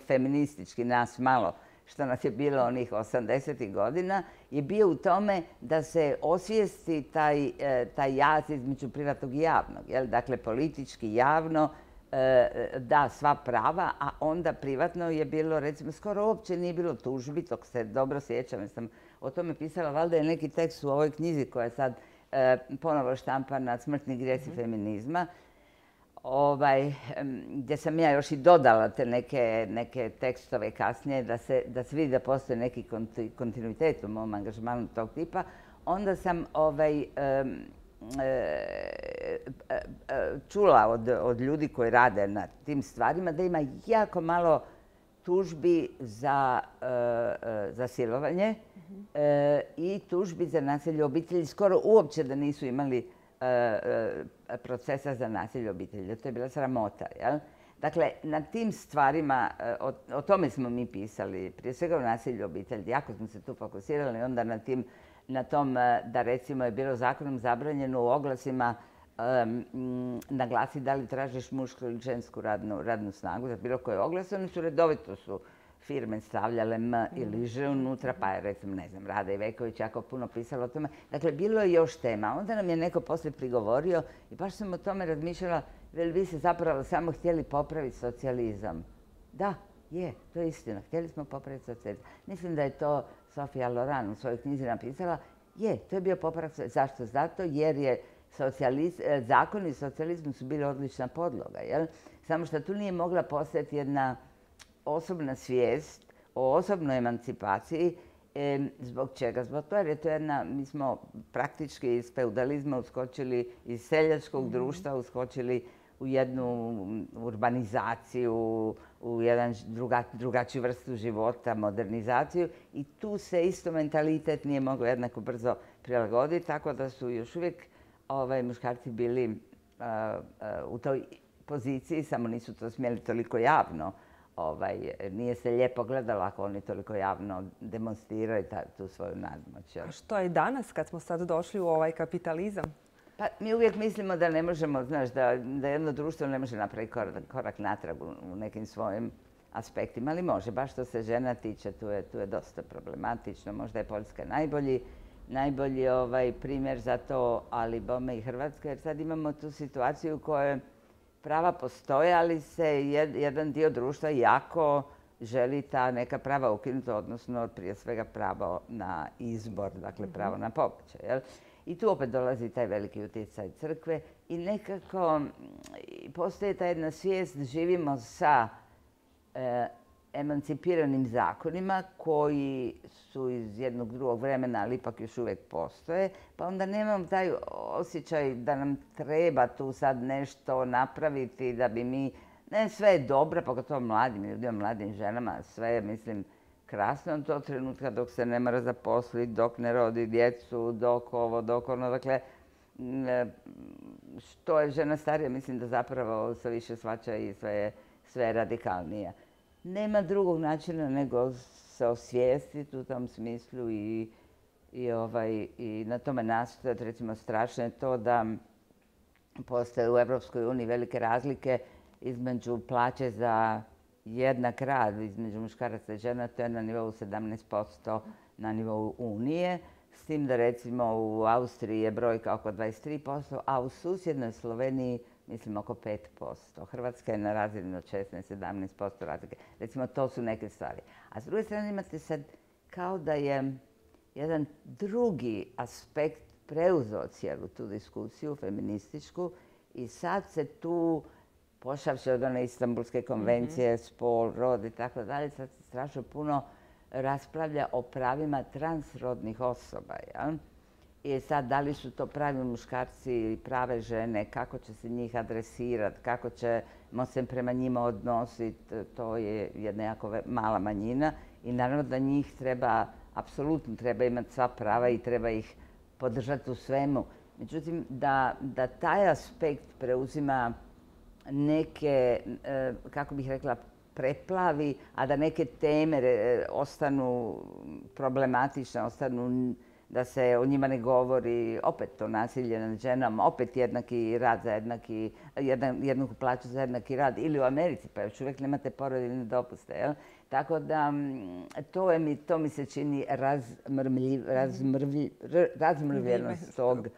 feministički nas malo, što nas je bilo onih osamdesetih godina, je bio u tome da se osvijesti taj, e, taj jaz između privatnog i javnog. Jel? Dakle, politički javno e, da sva prava, a onda privatno je bilo, recimo, skoro uopće nije bilo tužbi, tog se dobro sjećam, jer sam o tome pisala, valjda je neki tekst u ovoj knjizi koja je sad e, ponovo štampana, Smrtni grijesi mm-hmm. feminizma, ovaj, gdje sam ja još i dodala te neke, neke tekstove kasnije da se, da se vidi da postoji neki kontinuitet u mom angažmanu tog tipa. Onda sam ovaj, e, e, e, čula od, od ljudi koji rade na tim stvarima da ima jako malo tužbi za, e, za silovanje mm-hmm. e, i tužbi za nasilje u obitelji. Skoro uopće da nisu imali e, e, procesa za nasilje u obitelji. To je bila sramota. Jel? Dakle, na tim stvarima, e, o, o tome smo mi pisali, prije svega o nasilju u obitelji. Jako smo se tu fokusirali onda na, tim, na tom da recimo je bilo zakonom zabranjeno u oglasima Um, naglasi da li tražiš mušku ili žensku radnu, radnu snagu za bilo koje oglas. Oni su redovito su firme stavljale M ili Ž unutra, pa je recimo, ne znam, Rada Iveković jako puno pisala o tome. Dakle, bilo je još tema. Onda nam je neko poslije prigovorio i baš sam o tome razmišljala, veli vi se zapravo samo htjeli popraviti socijalizam. Da, je, to je istina. Htjeli smo popraviti socijalizam. Mislim da je to Sofija Loran u svojoj knjizi napisala. Je, to je bio popravak. Zašto? Zato jer je Socijaliz, zakoni i socijalizmu su bili odlična podloga. Jel? Samo što tu nije mogla postojati jedna osobna svijest o osobnoj emancipaciji. E, zbog čega? Zbog toga jer je to jedna, mi smo praktički iz feudalizma uskočili, iz seljačkog mm-hmm. društva uskočili u jednu urbanizaciju, u jedan druga, drugačiju vrstu života, modernizaciju i tu se isto mentalitet nije mogao jednako brzo prilagoditi, tako da su još uvijek ovaj, muškarci bili a, a, u toj poziciji, samo nisu to smjeli toliko javno. Ovaj, nije se lijepo gledalo ako oni toliko javno demonstriraju ta, tu svoju nadmoć. A što je danas kad smo sad došli u ovaj kapitalizam? Pa mi uvijek mislimo da ne možemo, znaš, da, da jedno društvo ne može napraviti korak, korak natrag u, u nekim svojim aspektima, ali može. Baš što se žena tiče, tu je, tu je dosta problematično. Možda je Poljska najbolji, najbolji ovaj, primjer za to, ali bome i Hrvatska, jer sad imamo tu situaciju u kojoj prava postoje, ali se jed, jedan dio društva jako želi ta neka prava ukinuti, odnosno prije svega pravo na izbor, dakle pravo na pobačaj. Jel? I tu opet dolazi taj veliki utjecaj crkve i nekako postoji ta jedna svijest, živimo sa e, emancipiranim zakonima koji su iz jednog drugog vremena, ali ipak još uvijek postoje, pa onda nemam taj osjećaj da nam treba tu sad nešto napraviti da bi mi, ne, sve je dobro, pogotovo mladim ljudima, mladim ženama, sve je, mislim, krasno do trenutka dok se ne mora zaposliti, dok ne rodi djecu, dok ovo, dok ono. Dakle, što je žena starija, mislim da zapravo sve više shvaća i sve je, sve je radikalnije. Nema drugog načina nego se osvijestiti u tom smislu i, i, ovaj, i na tome nastojati. Recimo, strašno je to da postoje u Europskoj uniji velike razlike između plaće za jednak rad između muškaraca i žena, to je na nivou sedamnaest posto na nivou Unije, s tim da recimo u Austriji je brojka oko dvadeset tri posto, a u susjednoj Sloveniji mislim oko pet posto. Hrvatska je na razini od šesnaest do sedamnaest posto razlike. Recimo, to su neke stvari. A s druge strane imate sad kao da je jedan drugi aspekt preuzeo cijelu tu diskusiju, feminističku, i sad se tu, pošavši od one Istanbulske konvencije, mm-hmm. spol, rod i tako dalje, sad se strašno puno raspravlja o pravima transrodnih osoba. Ja? I sad, da li su to pravi muškarci ili prave žene, kako će se njih adresirati, kako ćemo se prema njima odnositi, to je jedna jako mala manjina i naravno da njih treba, apsolutno treba imati sva prava i treba ih podržati u svemu. Međutim, da, da taj aspekt preuzima neke, kako bih rekla, preplavi, a da neke teme ostanu problematične, ostanu da se o njima ne govori, opet to nasilje nad ženama, opet jednaki rad za jednaki, jedan, jednaku plaću za jednaki rad, ili u Americi, pa još uvijek nemate porodiljne dopuste. Jel? Tako da to, je mi, to mi se čini razmrvljiv, razmrvljiv, razmrvljenost tog,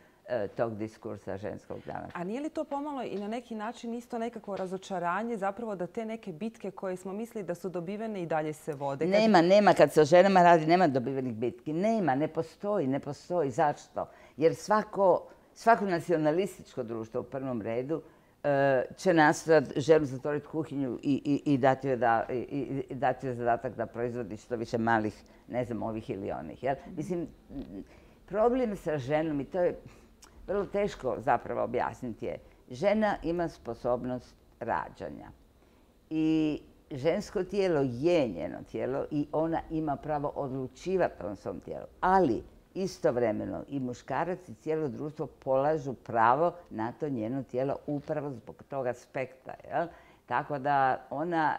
tog diskursa ženskog dana. A nije li to pomalo i na neki način isto nekako razočaranje zapravo da te neke bitke koje smo mislili da su dobivene i dalje se vode? Kad... Nema, nema. Kad se o ženama radi, nema dobivenih bitki. Nema, ne postoji, ne postoji. Zašto? Jer svako, svako nacionalističko društvo u prvom redu će nastojati ženu zatvoriti kuhinju i, i, i dati joj da, i, i dati joj zadatak da proizvodi što više malih, ne znam, ovih ili onih. Jel? Mislim, problem sa ženom, i to je vrlo teško zapravo objasniti, je žena ima sposobnost rađanja. I žensko tijelo je njeno tijelo i ona ima pravo odlučivati o svom tijelu. Ali istovremeno i muškarac i cijelo društvo polažu pravo na to njeno tijelo upravo zbog tog aspekta. Jel? Tako da ona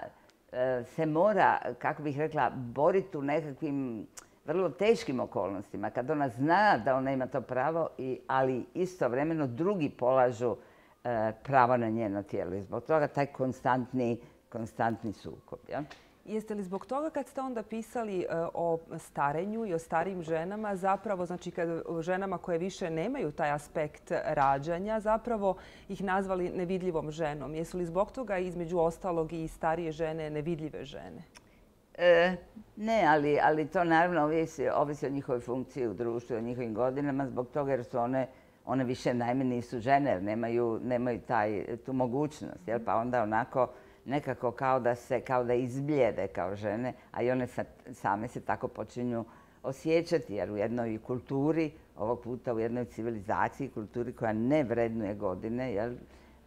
e, se mora, kako bih rekla, boriti u nekakvim vrlo teškim okolnostima, kad ona zna da ona ima to pravo, i, ali istovremeno drugi polažu e, pravo na njeno tijelo. I zbog toga taj konstantni, konstantni sukob. Ja? Jeste li zbog toga kad ste onda pisali e, o starenju i o starijim ženama, zapravo, znači kad ženama koje više nemaju taj aspekt rađanja, zapravo ih nazvali nevidljivom ženom? Jesu li zbog toga između ostalog i starije žene nevidljive žene? E, ne, ali, ali to naravno ovisi, ovisi o njihovoj funkciji u društvu, o njihovim godinama, zbog toga jer su one, one više najme nisu žene, jer nemaju, nemaju taj, tu mogućnost. Jel? Pa onda onako nekako kao da se, kao da izbljede kao žene, a i one same se tako počinju osjećati, jer u jednoj kulturi, ovog puta u jednoj civilizaciji, kulturi koja ne vrednuje godine, jel?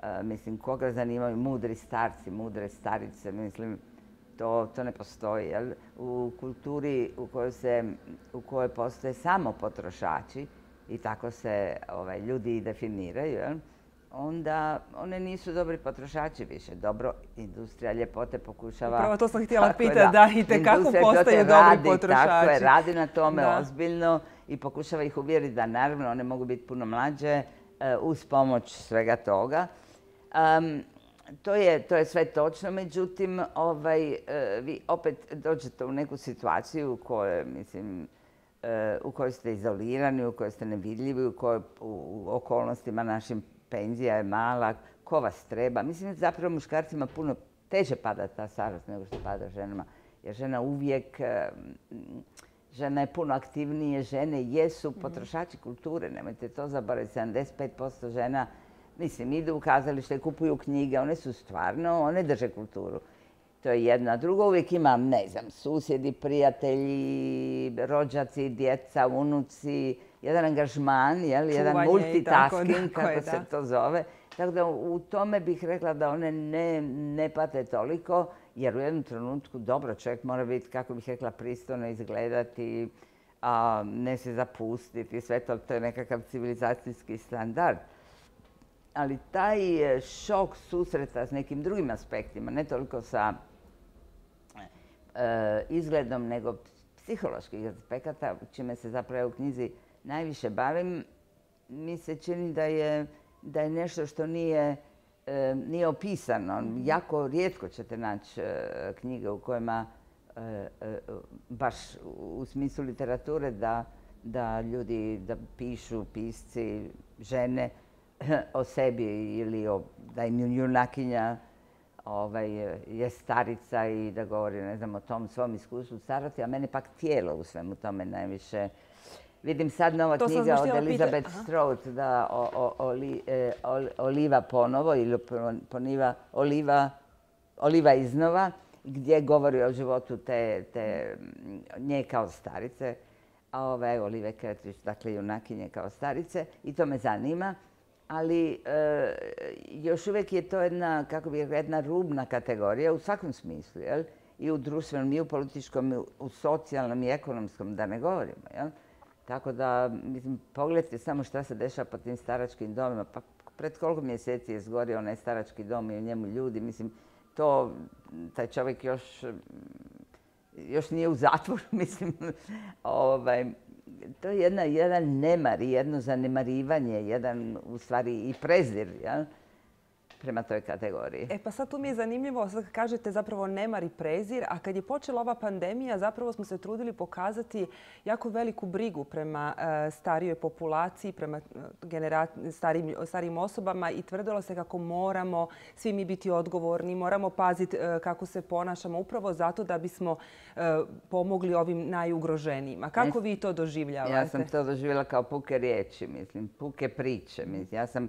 E, mislim, koga zanimaju mudri starci, mudre starice, mislim, To, to ne postoji. Jel? U kulturi u kojoj, se, u kojoj postoje samo potrošači i tako se ovaj, ljudi i definiraju, jel? Onda one nisu dobri potrošači više. Dobro, industrija ljepote pokušava... Upravo to sam htjela pitati, da, i tekako postaju dobri radi, potrošači. Tako je, radi na tome da. ozbiljno i pokušava ih uvjeriti da naravno one mogu biti puno mlađe uz pomoć svega toga. Um, to, je, to je sve točno, međutim, ovaj, vi opet dođete u neku situaciju u kojoj, mislim, u kojoj ste izolirani, u kojoj ste nevidljivi, u kojoj u okolnostima našim penzija je mala, ko vas treba. Mislim, zapravo muškarcima puno teže pada ta starost nego što pada ženama. Jer žena uvijek, žena je puno aktivnije, žene jesu potrošači kulture, nemojte to zaboraviti. sedamdeset pet posto žena, mislim, idu u kazalište, kupuju knjige, one su stvarno, one drže kulturu. To je jedna. Drugo, uvijek imam, ne znam, susjedi, prijatelji, rođaci, djeca, unuci, jedan angažman, jel? Jedan multitasking, kako je, se to zove. Tako da u tome bih rekla da one ne, ne pate toliko, jer u jednom trenutku dobro čovjek mora biti, kako bih rekla, pristojno izgledati, a ne se zapustiti, sve to, to je nekakav civilizacijski standard. Ali taj šok susreta s nekim drugim aspektima, ne toliko sa e, izgledom, nego psiholoških aspekata, čime se zapravo u knjizi najviše bavim, mi se čini da je, da je nešto što nije, e, nije opisano. Jako rijetko ćete naći e, knjige u kojima, e, e, baš u smislu literature, da, da ljudi da pišu, pisci, žene, o sebi ili o, da im junakinja ovaj, je starica i da govori, ne znam, o tom svom iskustvu starosti, a mene pak tijelo u svemu tome najviše. Vidim sad nova knjiga od Elizabeth Strout, da, o, o, oli, e, Oliva ponovo ili poniva, Oliva, Oliva iznova, gdje govori o životu te, te nje kao starice, a ove Olive Kretrić, dakle junakinje kao starice, i to me zanima. Ali e, još uvijek je to jedna, kako bih rekla, jedna rubna kategorija u svakom smislu, jel? I u društvenom, i u političkom, i u socijalnom, i ekonomskom, da ne govorimo, jel? Tako da, mislim, pogledajte samo šta se dešava po tim staračkim domima. Pa pred koliko mjeseci je zgorio onaj starački dom i u njemu ljudi, mislim, to, taj čovjek još, još nije u zatvoru, mislim, ovaj, to je jedna, jedan nemar i jedno zanemarivanje, jedan u stvari i prezir, jel? Prema toj kategoriji. E pa sad tu mi je zanimljivo, sad kažete zapravo nemar i prezir, a kad je počela ova pandemija zapravo smo se trudili pokazati jako veliku brigu prema e, starijoj populaciji, prema starijim, starijim osobama i tvrdilo se kako moramo svi mi biti odgovorni, moramo paziti e, kako se ponašamo upravo zato da bismo e, pomogli ovim najugroženijima. Kako vi to doživljavate? Ja sam to doživjela kao puke riječi, mislim, puke priče. Mislim, ja sam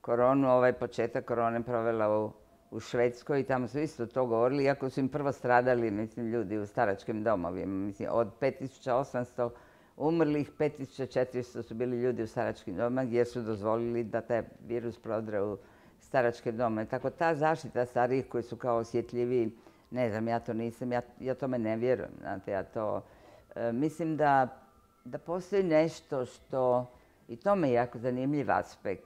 koronu, ovaj početak korone provela u, u Švedskoj i tamo su isto to govorili, iako su im prvo stradali, mislim, ljudi u staračkim domovima. Mislim, od pet tisuća osamsto umrlih, pet tisuća četiristo su bili ljudi u staračkim domovima gdje su dozvolili da taj virus prodre u staračke domove. Tako ta zaštita starijih koji su kao osjetljiviji, ne znam, ja to nisam, ja, ja tome ne vjerujem. Znate, ja to, e, mislim da, da postoji nešto što, i to me je jako zanimljiv aspekt,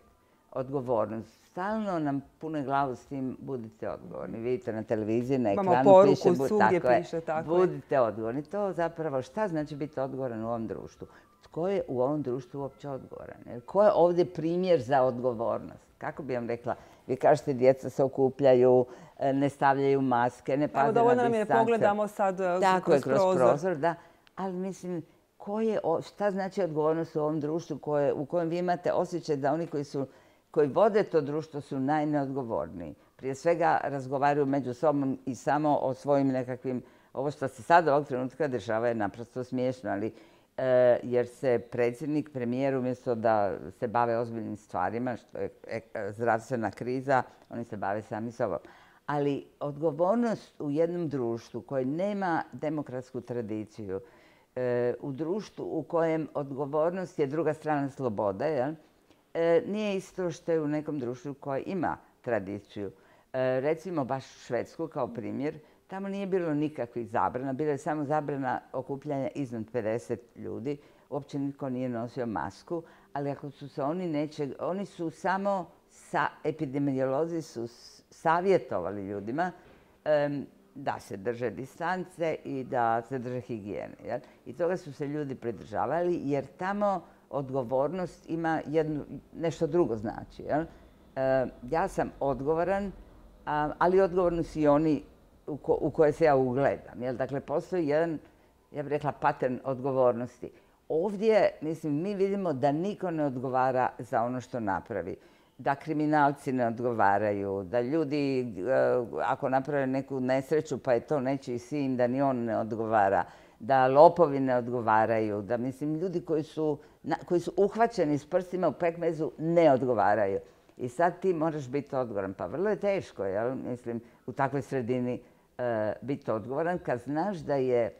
odgovornost. Stalno nam pune glavu s tim budite odgovorni. Vidite na televiziji, na ekranu piše... Imamo poruku, svugdje piše tako. Budite odgovorni. To zapravo šta znači biti odgovoran u ovom društvu? Tko je u ovom društvu uopće odgovoran? Ko je ovdje primjer za odgovornost? Kako bi vam rekla? Vi kažete djeca se okupljaju, ne stavljaju maske, ne paze na distance. Dovoljno nam je pogledamo sad kroz prozor. Tako je, kroz prozor, da. Ali mislim, ko je, šta znači odgovornost u ovom društvu koje, u kojem vi imate osjećaj da oni koji su koji vode to društvo su najneodgovorniji. Prije svega razgovaraju među sobom i samo o svojim nekakvim... Ovo što se sad ovog trenutka dešava je naprosto smiješno, ali e, jer se predsjednik, premijer, umjesto da se bave ozbiljnim stvarima, što je zdravstvena kriza, oni se bave sami sobom. Ali odgovornost u jednom društvu koje nema demokratsku tradiciju, e, u društvu u kojem odgovornost je druga strana slobode, jel? E, nije isto što je u nekom društvu koje ima tradiciju. E, recimo baš Švedsku kao primjer. tamo nije bilo nikakvih zabrana, bila je samo zabrana okupljanja iznad pedeset ljudi. Uopće nitko nije nosio masku, ali ako su se oni nečeg, oni su samo, sa, epidemiolozi su savjetovali ljudima um, da se drže distance i da se drže higijene. Jel? I toga su se ljudi pridržavali jer tamo odgovornost ima jednu, nešto drugo znači. Jel? Uh, ja sam odgovoran, um, ali odgovorni su i oni u, ko, u koje se ja ugledam. Jel? Dakle, postoji jedan, ja bih rekla, pattern odgovornosti. Ovdje, mislim, mi vidimo da niko ne odgovara za ono što napravi. Da kriminalci ne odgovaraju, da ljudi, ako naprave neku nesreću, pa je to nečiji sin, da ni on ne odgovara. Da lopovi ne odgovaraju, da, mislim, ljudi koji su, koji su uhvaćeni s prstima u pekmezu ne odgovaraju. I sad ti moraš biti odgovoran. Pa vrlo je teško, jel? Mislim, u takvoj sredini uh, biti odgovoran kad znaš da je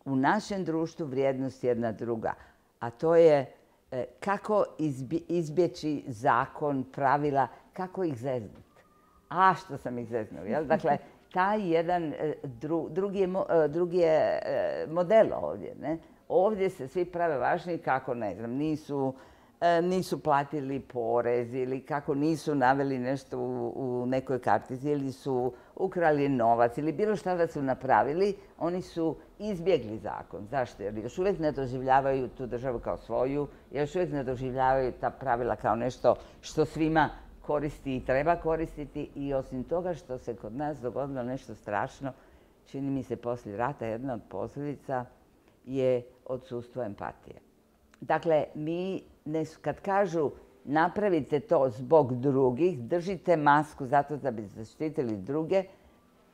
u našem društvu vrijednost jedna druga, a to je e, kako izbje, izbjeći zakon, pravila, kako ih zeznuti. A što sam ih zeznuo, jel? Dakle, taj jedan e, dru, drugi, je, e, drugi je e, model ovdje. Ne? Ovdje se svi prave važni kako, ne znam, nisu, e, nisu platili porez ili kako nisu naveli nešto u, u nekoj kartici ili su ukrali novac ili bilo šta da su napravili, oni su izbjegli zakon. Zašto? Jer još uvijek ne doživljavaju tu državu kao svoju, još uvijek ne doživljavaju ta pravila kao nešto što svima koristi i treba koristiti i osim toga što se kod nas dogodilo nešto strašno, čini mi se poslije rata jedna od posljedica je odsustvo empatije. Dakle, mi ne, kad kažu napravite to zbog drugih, držite masku zato da bi zaštitili druge,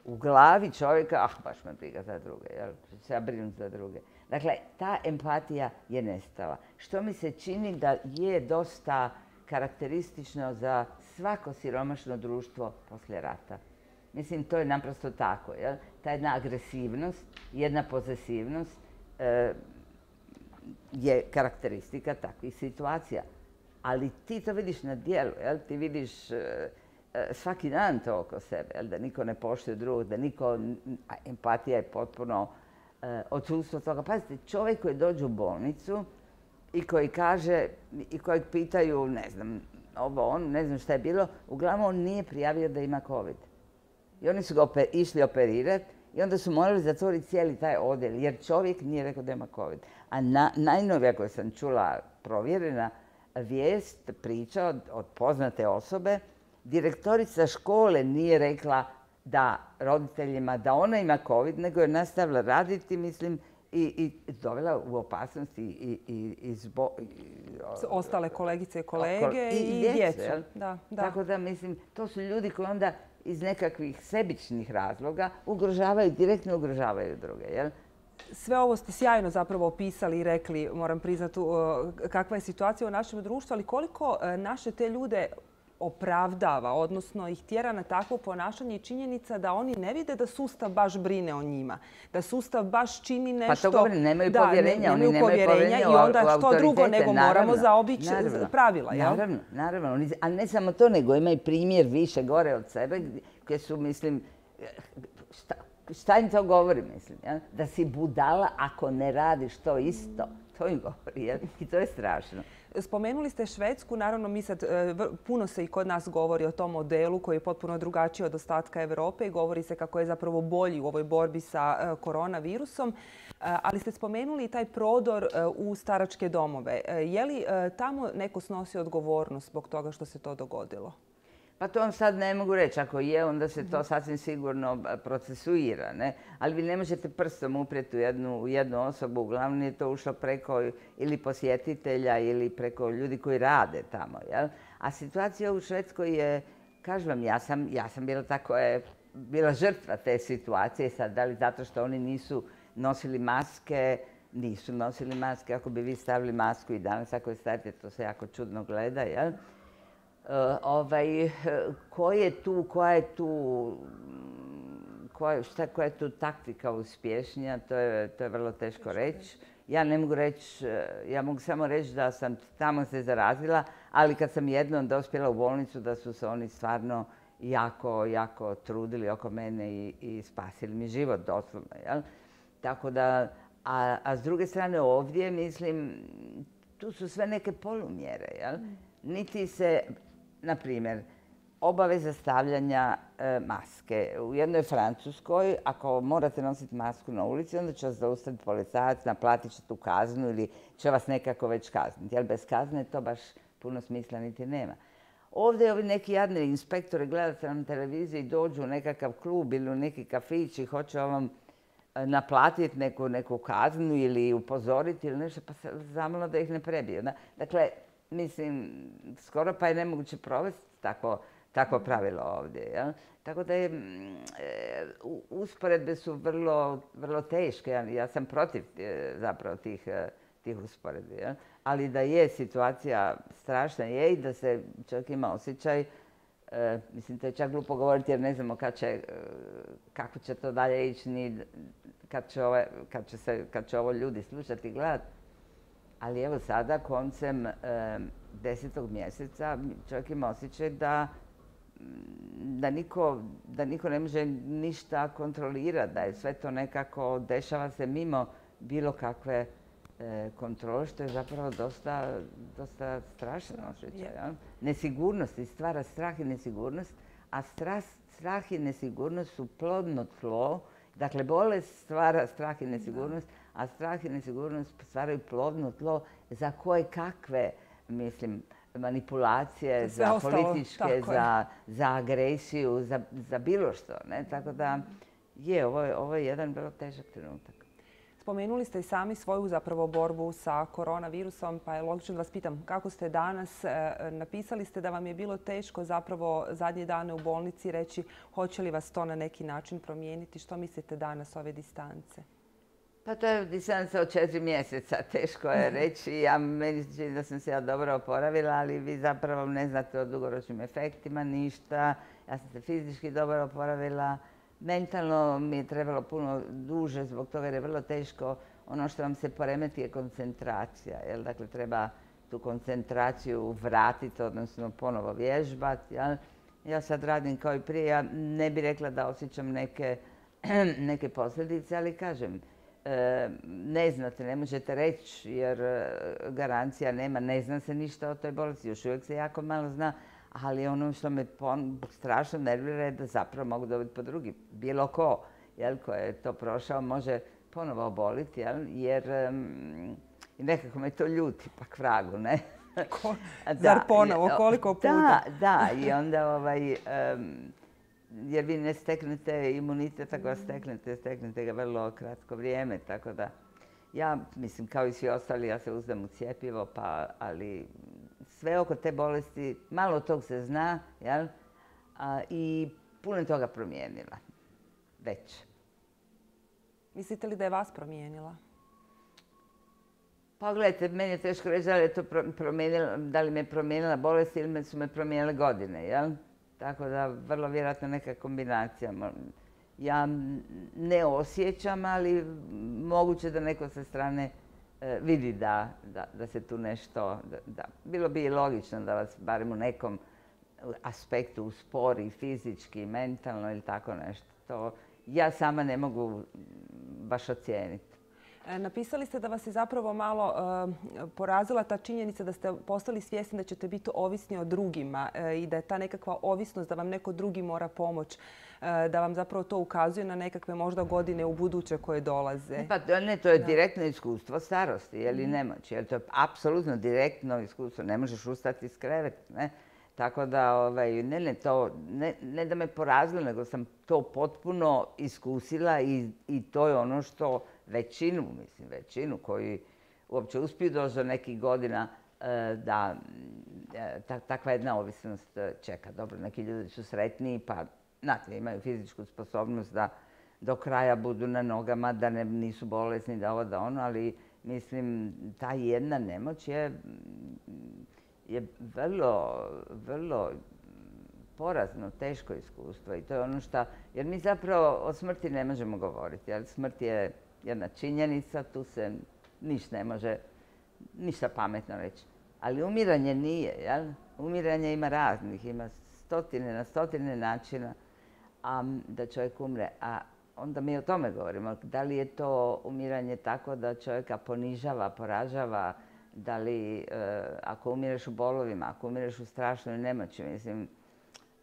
u glavi čovjeka, ah, baš me briga za druge, jel? Se ja brinem za druge. Dakle, ta empatija je nestala. Što mi se čini da je dosta karakteristično za svako siromašno društvo poslije rata. Mislim, to je naprosto tako, jel? Ta jedna agresivnost, jedna posesivnost e, je karakteristika takvih situacija. Ali ti to vidiš na djelu, jel? Ti vidiš e, svaki dan to oko sebe, jel? Da niko ne poštuje drugog, da niko, empatija je potpuno e, odsustvo toga. Pazite, čovjek koji dođe u bolnicu i koji kaže, i kojeg pitaju, ne znam, ovo, on, ne znam šta je bilo, uglavnom on nije prijavio da ima COVID. I oni su ga oper, išli operirati i onda su morali zatvoriti cijeli taj odjel, jer čovjek nije rekao da ima COVID. A na, najnovija koju sam čula provjerena vijest, priča od, od poznate osobe, direktorica škole nije rekla da roditeljima da ona ima COVID, nego je nastavila raditi, mislim, i, i dovela u opasnost i, i, i, i zbo, i ostale kolegice i kolege i, i djecu. djecu. Da, da. Tako da, mislim, to su ljudi koji onda iz nekakvih sebičnih razloga ugrožavaju, direktno ugrožavaju druge, jel? Sve ovo ste sjajno zapravo opisali i rekli, moram priznati, kakva je situacija u našem društvu, ali koliko naše te ljude opravdava, odnosno ih tjera na takvo ponašanje i činjenica da oni ne vide da sustav baš brine o njima. Da sustav baš čini nešto... Pa to govorim, nemaju da, povjerenja. Nemaju oni povjerenja, povjerenja i onda što drugo nego naravno, moramo zaobići pravila. Jel? Naravno, naravno. Ali ne samo to, nego imaju primjer više gore od sebe gdje su, mislim, šta, šta im to govori, mislim? Ja? Da si budala ako ne radiš to isto. To im govori, jel? I to je strašno. Spomenuli ste Švedsku, naravno mi sad, puno se i kod nas govori o tom modelu koji je potpuno drugačiji od ostatka Europe i govori se kako je zapravo bolji u ovoj borbi sa koronavirusom. Ali ste spomenuli i taj prodor u staračke domove. Je li tamo neko snosi odgovornost zbog toga što se to dogodilo? Pa to vam sad ne mogu reći. Ako je, onda se to sasvim sigurno procesuira. Ne? Ali vi ne možete prstom uprijeti u jednu, u jednu osobu. Uglavnom je to ušlo preko ili posjetitelja ili preko ljudi koji rade tamo. Jel? A situacija u Švedskoj je, kažem vam, ja sam, ja sam bila tako je, bila žrtva te situacije. Sad, da li zato što oni nisu nosili maske, nisu nosili maske. Ako bi vi stavili masku i danas ako je stavite, to se jako čudno gleda. Jel? Uh, ovaj, ko je tu, koja je tu, koja, šta, koja je tu taktika uspješnija, to je, to je vrlo teško reći. Ja ne mogu reći, ja mogu samo reći da sam tamo se zarazila, ali kad sam jednom dospjela u bolnicu da su se oni stvarno jako, jako trudili oko mene i, i spasili mi život doslovno. Jel? Tako da, a, a s druge strane ovdje, mislim, tu su sve neke polumjere. Jel? Niti se, na primjer, obaveza stavljanja e, maske. U jednoj Francuskoj, ako morate nositi masku na ulici, onda će vas zaustaviti policajac, naplatit će tu kaznu ili će vas nekako već kazniti. Jer bez kazne to baš puno smisla niti nema. Ovdje ovi neki jadni inspektori gledate na televiziji, dođu u nekakav klub ili u neki kafić i hoće vam naplatiti neku, neku kaznu ili upozoriti ili nešto, pa se zamalo da ih ne prebiju. Dakle, mislim, skoro pa je nemoguće provesti tako Takvo pravilo ovdje. Jel? Tako da je, e, usporedbe su vrlo, vrlo teške. Ja, ja sam protiv e, zapravo tih, e, tih usporedbi. Jel? Ali da je situacija strašna je i da se čovjek ima osjećaj, e, mislim to je čak glupo govoriti jer ne znamo kad će, e, kako će to dalje ići, ni kad će, ove, kad će, se, kad će ovo ljudi slušati i gledati. Ali evo sada koncem e, desetog mjeseca čovjek ima osjećaj da Da niko, da niko ne može ništa kontrolirati, da je sve to nekako dešava se mimo bilo kakve e, kontrole, što je zapravo dosta, dosta strašno osjećaj. Ja? Nesigurnost i stvara strah i nesigurnost, a strah, strah i nesigurnost su plodno tlo. Dakle, bolest stvara strah i nesigurnost, a strah i nesigurnost stvaraju plodno tlo za koje kakve, mislim, manipulacije, za ostalo, političke, za, za agresiju, za, za bilo što. Ne? Tako da je, ovo je, ovo je jedan vrlo težak trenutak. Spomenuli ste i sami svoju zapravo borbu sa koronavirusom, pa je logično da vas pitam kako ste danas. Napisali ste da vam je bilo teško zapravo zadnje dane u bolnici reći hoće li vas to na neki način promijeniti. Što mislite danas ove distance? Pa to je distanca od četiri mjeseca, teško je reći. Ja meni se čini da sam se ja dobro oporavila, ali vi zapravo ne znate o dugoročnim efektima ništa. Ja sam se fizički dobro oporavila. Mentalno mi je trebalo puno duže zbog toga jer je vrlo teško. Ono što vam se poremeti je koncentracija. Jel? Dakle, treba tu koncentraciju vratiti, odnosno ponovo vježbati. Jel? Ja sad radim kao i prije. Ja ne bih rekla da osjećam neke, neke posljedice, ali kažem, ne znate, ne možete reći jer garancija nema, ne zna se ništa o toj bolesti, još uvijek se jako malo zna, ali ono što me strašno nervira je da zapravo mogu dobiti po drugi. Bilo ko, jel, ko je to prošao može ponovo oboliti, jel, jer um, nekako me to ljuti, pak vragu, ne? Ko, zar ponovo, koliko puta? Da, da, i onda ovaj... Um, jer vi ne steknete imunitet, ako vas steknete, steknete ga vrlo kratko vrijeme, tako da ja, mislim, kao i svi ostali, ja se uzdam u cjepivo, pa, ali sve oko te bolesti, malo tog se zna, jel? A, i puno toga promijenila, već. Mislite li da je vas promijenila? Pa gledajte, meni je teško reći da li, je to promijenila, da li me je promijenila bolest ili su me promijenile godine, jel? Tako da vrlo vjerojatno neka kombinacija. Ja ne osjećam, ali moguće da neko sa strane e, vidi da, da, da se tu nešto... Da, da. Bilo bi i logično da vas barem u nekom aspektu uspori fizički, mentalno ili tako nešto. To ja sama ne mogu baš ocijeniti. Napisali ste da vas je zapravo malo uh, porazila ta činjenica da ste postali svjesni da ćete biti ovisni o drugima uh, i da je ta nekakva ovisnost, da vam neko drugi mora pomoć, uh, da vam zapravo to ukazuje na nekakve možda godine u buduće koje dolaze. Pa ne, to je direktno iskustvo starosti ili nemoći. Jer to je apsolutno direktno iskustvo. Ne možeš ustati iz kreveta, ne? Tako da, ovaj, ne, ne, to, ne, ne da me porazilo, nego sam to potpuno iskusila i, i to je ono što većinu, mislim, većinu koji uopće uspiju doći do nekih godina da ta, takva jedna ovisnost čeka. Dobro, neki ljudi su sretniji pa, znate, imaju fizičku sposobnost da do kraja budu na nogama, da ne, nisu bolesni, da ovo, da ono, ali mislim, ta jedna nemoć je je vrlo, vrlo porazno, teško iskustvo i to je ono što, jer mi zapravo o smrti ne možemo govoriti, jer smrt je jedna činjenica, tu se ništa ne može, ništa pametno reći. Ali umiranje nije, jel? Umiranje ima raznih, ima stotine na stotine načina a, da čovjek umre. A onda mi o tome govorimo. Da li je to umiranje tako da čovjeka ponižava, poražava, da li e, ako umireš u bolovima, ako umireš u strašnoj nemoći, mislim,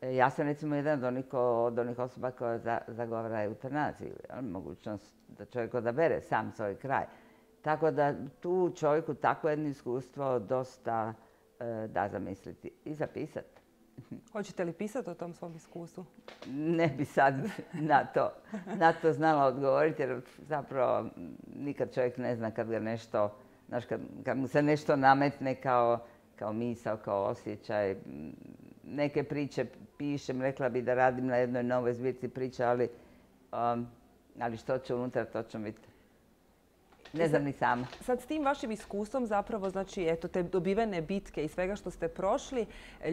ja sam recimo jedan od onih, od onih osoba koja za, zagovara eutanaziju, mogućnost da čovjek odabere sam svoj kraj. Tako da tu čovjeku takvo jedno iskustvo dosta e, da zamisliti i zapisati. Hoćete li pisati o tom svom iskustvu? Ne bi sad na to, na to znala odgovoriti jer zapravo nikad čovjek ne zna kad ga nešto, znaš, kad, kad mu se nešto nametne kao, kao misao, kao osjećaj. Neke priče pišem, rekla bi da radim na jednoj novoj zbirci priča, ali, um, ali što će unutra, to će biti. Ne znam ni sama. Sad s tim vašim iskustvom zapravo, znači, eto, te dobivene bitke i svega što ste prošli,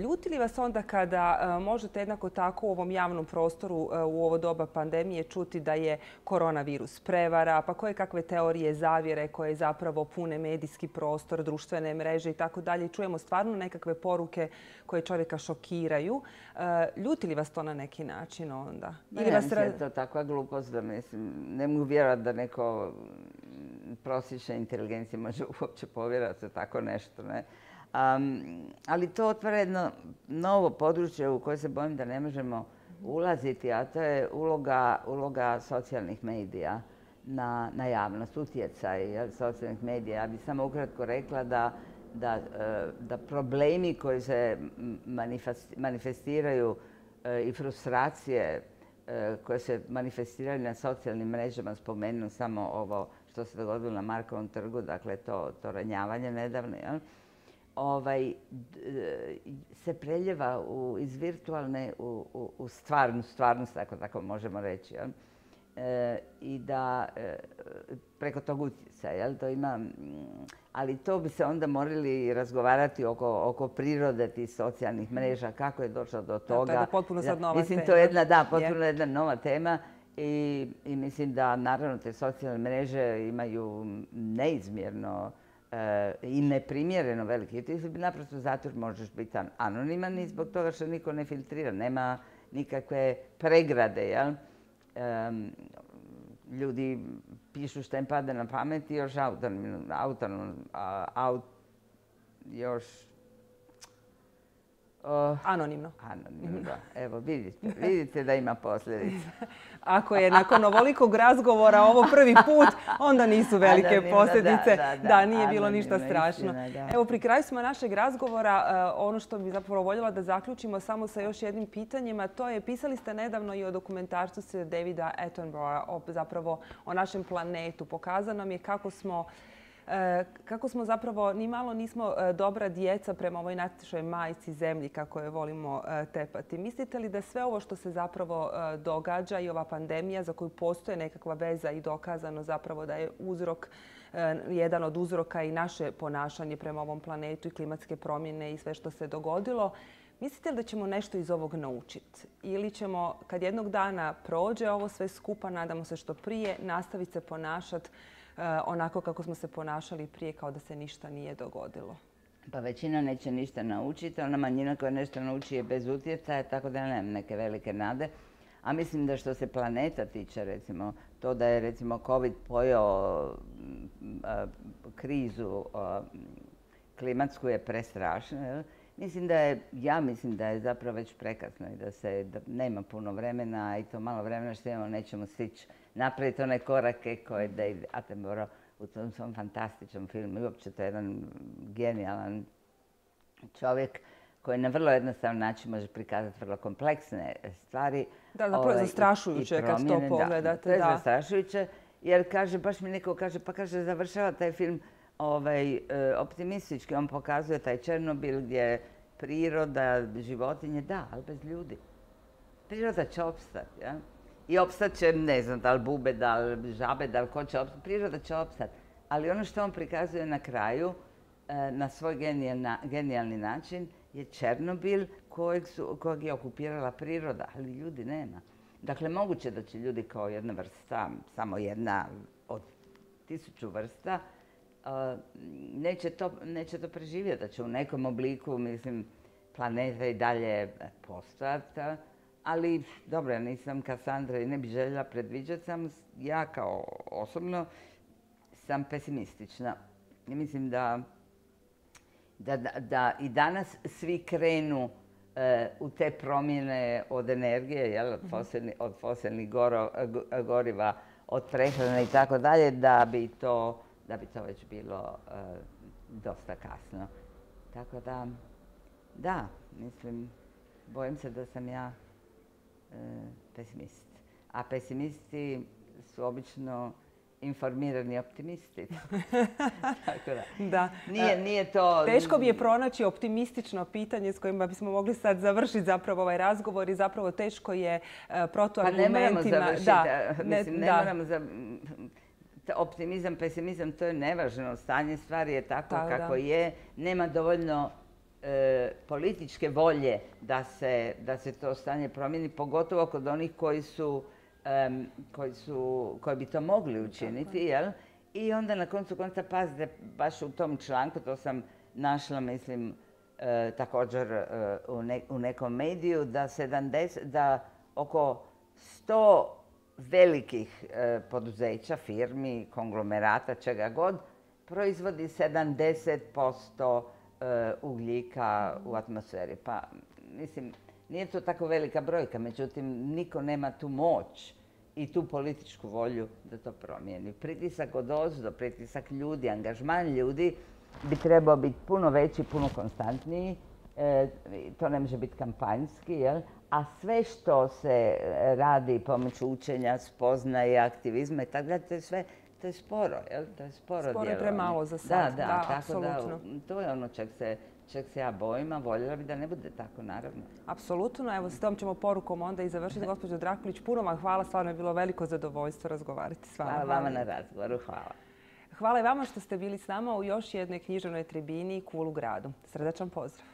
ljuti li vas onda kada uh, možete jednako tako u ovom javnom prostoru uh, u ovo doba pandemije čuti da je koronavirus prevara, pa koje kakve teorije zavjere koje zapravo pune medijski prostor, društvene mreže i tako dalje. Čujemo stvarno nekakve poruke koje čovjeka šokiraju. Uh, ljuti li vas to na neki način onda? Ili ne, vas... mislim, je to takva glupost da mislim, ne mogu vjerovati da neko prosječna inteligencija može uopće povjerovati u tako nešto. Ne? Um, ali to otvara jedno novo područje u koje se bojim da ne možemo ulaziti, a to je uloga, uloga socijalnih medija na, na javnost, utjecaj ja, socijalnih medija. Ja bih samo ukratko rekla da, da, da problemi koji se manifestiraju i frustracije koje se manifestiraju na socijalnim mrežama, spomenu samo ovo što se dogodilo na Markovom trgu, dakle to, to ranjavanje nedavno, jel? Ovaj, se preljeva u, iz virtualne u, u, u stvarnu stvarnost, ako tako možemo reći. Jel? E, I da e, preko tog utjecaja, jel? To ima, ali to bi se onda morali razgovarati oko, oko prirode tih socijalnih mreža, kako je došlo do toga. Da, to je potpuno sad nova mislim, tema. to je jedna, da, potpuno jedna nova tema. I, I mislim da naravno te socijalne mreže imaju neizmjerno e, i neprimjereno veliki. Ti naprosto zato možeš biti anoniman i zbog toga što niko ne filtrira. Nema nikakve pregrade. Jel? E, ljudi pišu što im padne na pamet i još autonomno, autonomno, aut, još Uh, anonimno. Anonimno, da. Evo, vidite, vidite da ima posljedice. Ako je nakon ovolikog razgovora ovo prvi put, onda nisu velike anonimno, posljedice. Da, da, da. da nije bilo ništa strašno. Istina, evo, pri kraju smo našeg razgovora. Uh, ono što bi zapravo voljela da zaključimo samo sa još jednim pitanjima, to je, pisali ste nedavno i o dokumentarcu se Davida Attenborougha, o, zapravo o našem planetu. Pokazano nam je kako smo kako smo zapravo ni malo nismo dobra djeca prema ovoj našoj majci zemlji, kako je volimo tepati. Mislite li da sve ovo što se zapravo događa i ova pandemija za koju postoje nekakva veza i dokazano zapravo da je uzrok, jedan od uzroka i naše ponašanje prema ovom planetu i klimatske promjene i sve što se dogodilo, mislite li da ćemo nešto iz ovog naučiti? Ili ćemo, kad jednog dana prođe ovo sve skupa, nadamo se što prije, nastaviti se ponašati onako kako smo se ponašali prije, kao da se ništa nije dogodilo? Pa većina neće ništa naučiti, ona manjina koja nešto nauči je bez utjecaja, tako da ja nemam neke velike nade. A mislim da što se planeta tiče, recimo, to da je recimo COVID pojeo krizu klimatsku je prestrašno. Jel? Mislim da je, ja mislim da je zapravo već prekasno i da se da nema puno vremena i to malo vremena što imamo nećemo stići napraviti one korake koje David Attenborough u tom svom fantastičnom filmu. I uopće to je jedan genijalan čovjek koji na vrlo jednostavan način može prikazati vrlo kompleksne stvari. Da, zapravo je zastrašujuće kad to pogledate. Da, to je zastrašujuće jer kaže, baš mi neko kaže, pa kaže završava taj film ovaj, optimistički. On pokazuje taj Černobil gdje priroda, životinje, da, ali bez ljudi. Priroda će opstati, ja? I opstat će, ne znam, da li bube, da li žabe, da li ko će opstati. Priroda će opstati. Ali ono što on prikazuje na kraju, na svoj genijalni način, je Černobil kojeg, su, kojeg je okupirala priroda, ali ljudi nema. Dakle, moguće da će ljudi kao jedna vrsta, samo jedna od tisuću vrsta, neće to, neće to preživjeti, da će u nekom obliku, mislim, planeta i dalje postojati. Ali, dobro, ja nisam Kasandra i ne bih željela predviđati, sam ja kao osobno sam pesimistična. I mislim da, da, da, da i danas svi krenu e, u te promjene od energije, jel, od, fosilni, od fosilnih goro, goriva, od prehrane i tako dalje, da bi to, da bi to već bilo e, dosta kasno. Tako da, da, mislim, bojim se da sam ja pesimist. A pesimisti su obično informirani optimisti. Tako da. Da. Nije, nije to... Teško bi je pronaći optimistično pitanje s kojima bismo mogli sad završiti zapravo ovaj razgovor i zapravo teško je protuargumentima... Pa ne moramo završiti. Da, Mislim, ne, ne moramo za... Optimizam, pesimizam, to je nevažno. Stanje stvari je tako da, kako da. je. Nema dovoljno E, političke volje da se, da se to stanje promijeni, pogotovo kod onih koji su, um, koji su, koji bi to mogli učiniti, jel? I onda na koncu konca, pazite, baš u tom članku, to sam našla, mislim, e, također e, u, ne, u nekom mediju, da, sedamdeset, da oko sto velikih e, poduzeća, firmi, konglomerata, čega god, proizvodi sedamdeset posto ugljika u atmosferi. Pa, mislim, nije to tako velika brojka, međutim, niko nema tu moć i tu političku volju da to promijeni. Pritisak odozdo, pritisak ljudi, angažman ljudi bi trebao biti puno veći, puno konstantniji. E, to ne može biti kampanjski, jel? A sve što se radi pomoću učenja, spoznaje, aktivizma i tako dalje, to je sve To je sporo, jel? To je sporo djelovanje. Sporo je premalo za sad. Da, da, da tako apsolutno. Da, to je ono čeg se, čeg se ja bojim, a voljela bi da ne bude tako, naravno. Apsolutno. Evo, s tom ćemo porukom onda i završiti. Gospođo Drakulić, puno vam hvala. Stvarno je bilo veliko zadovoljstvo razgovarati s vama. Hvala vama na razgovoru. Hvala. Hvala i vama što ste bili s nama u još jednoj književnoj tribini Kul u gradu. Srdačan pozdrav.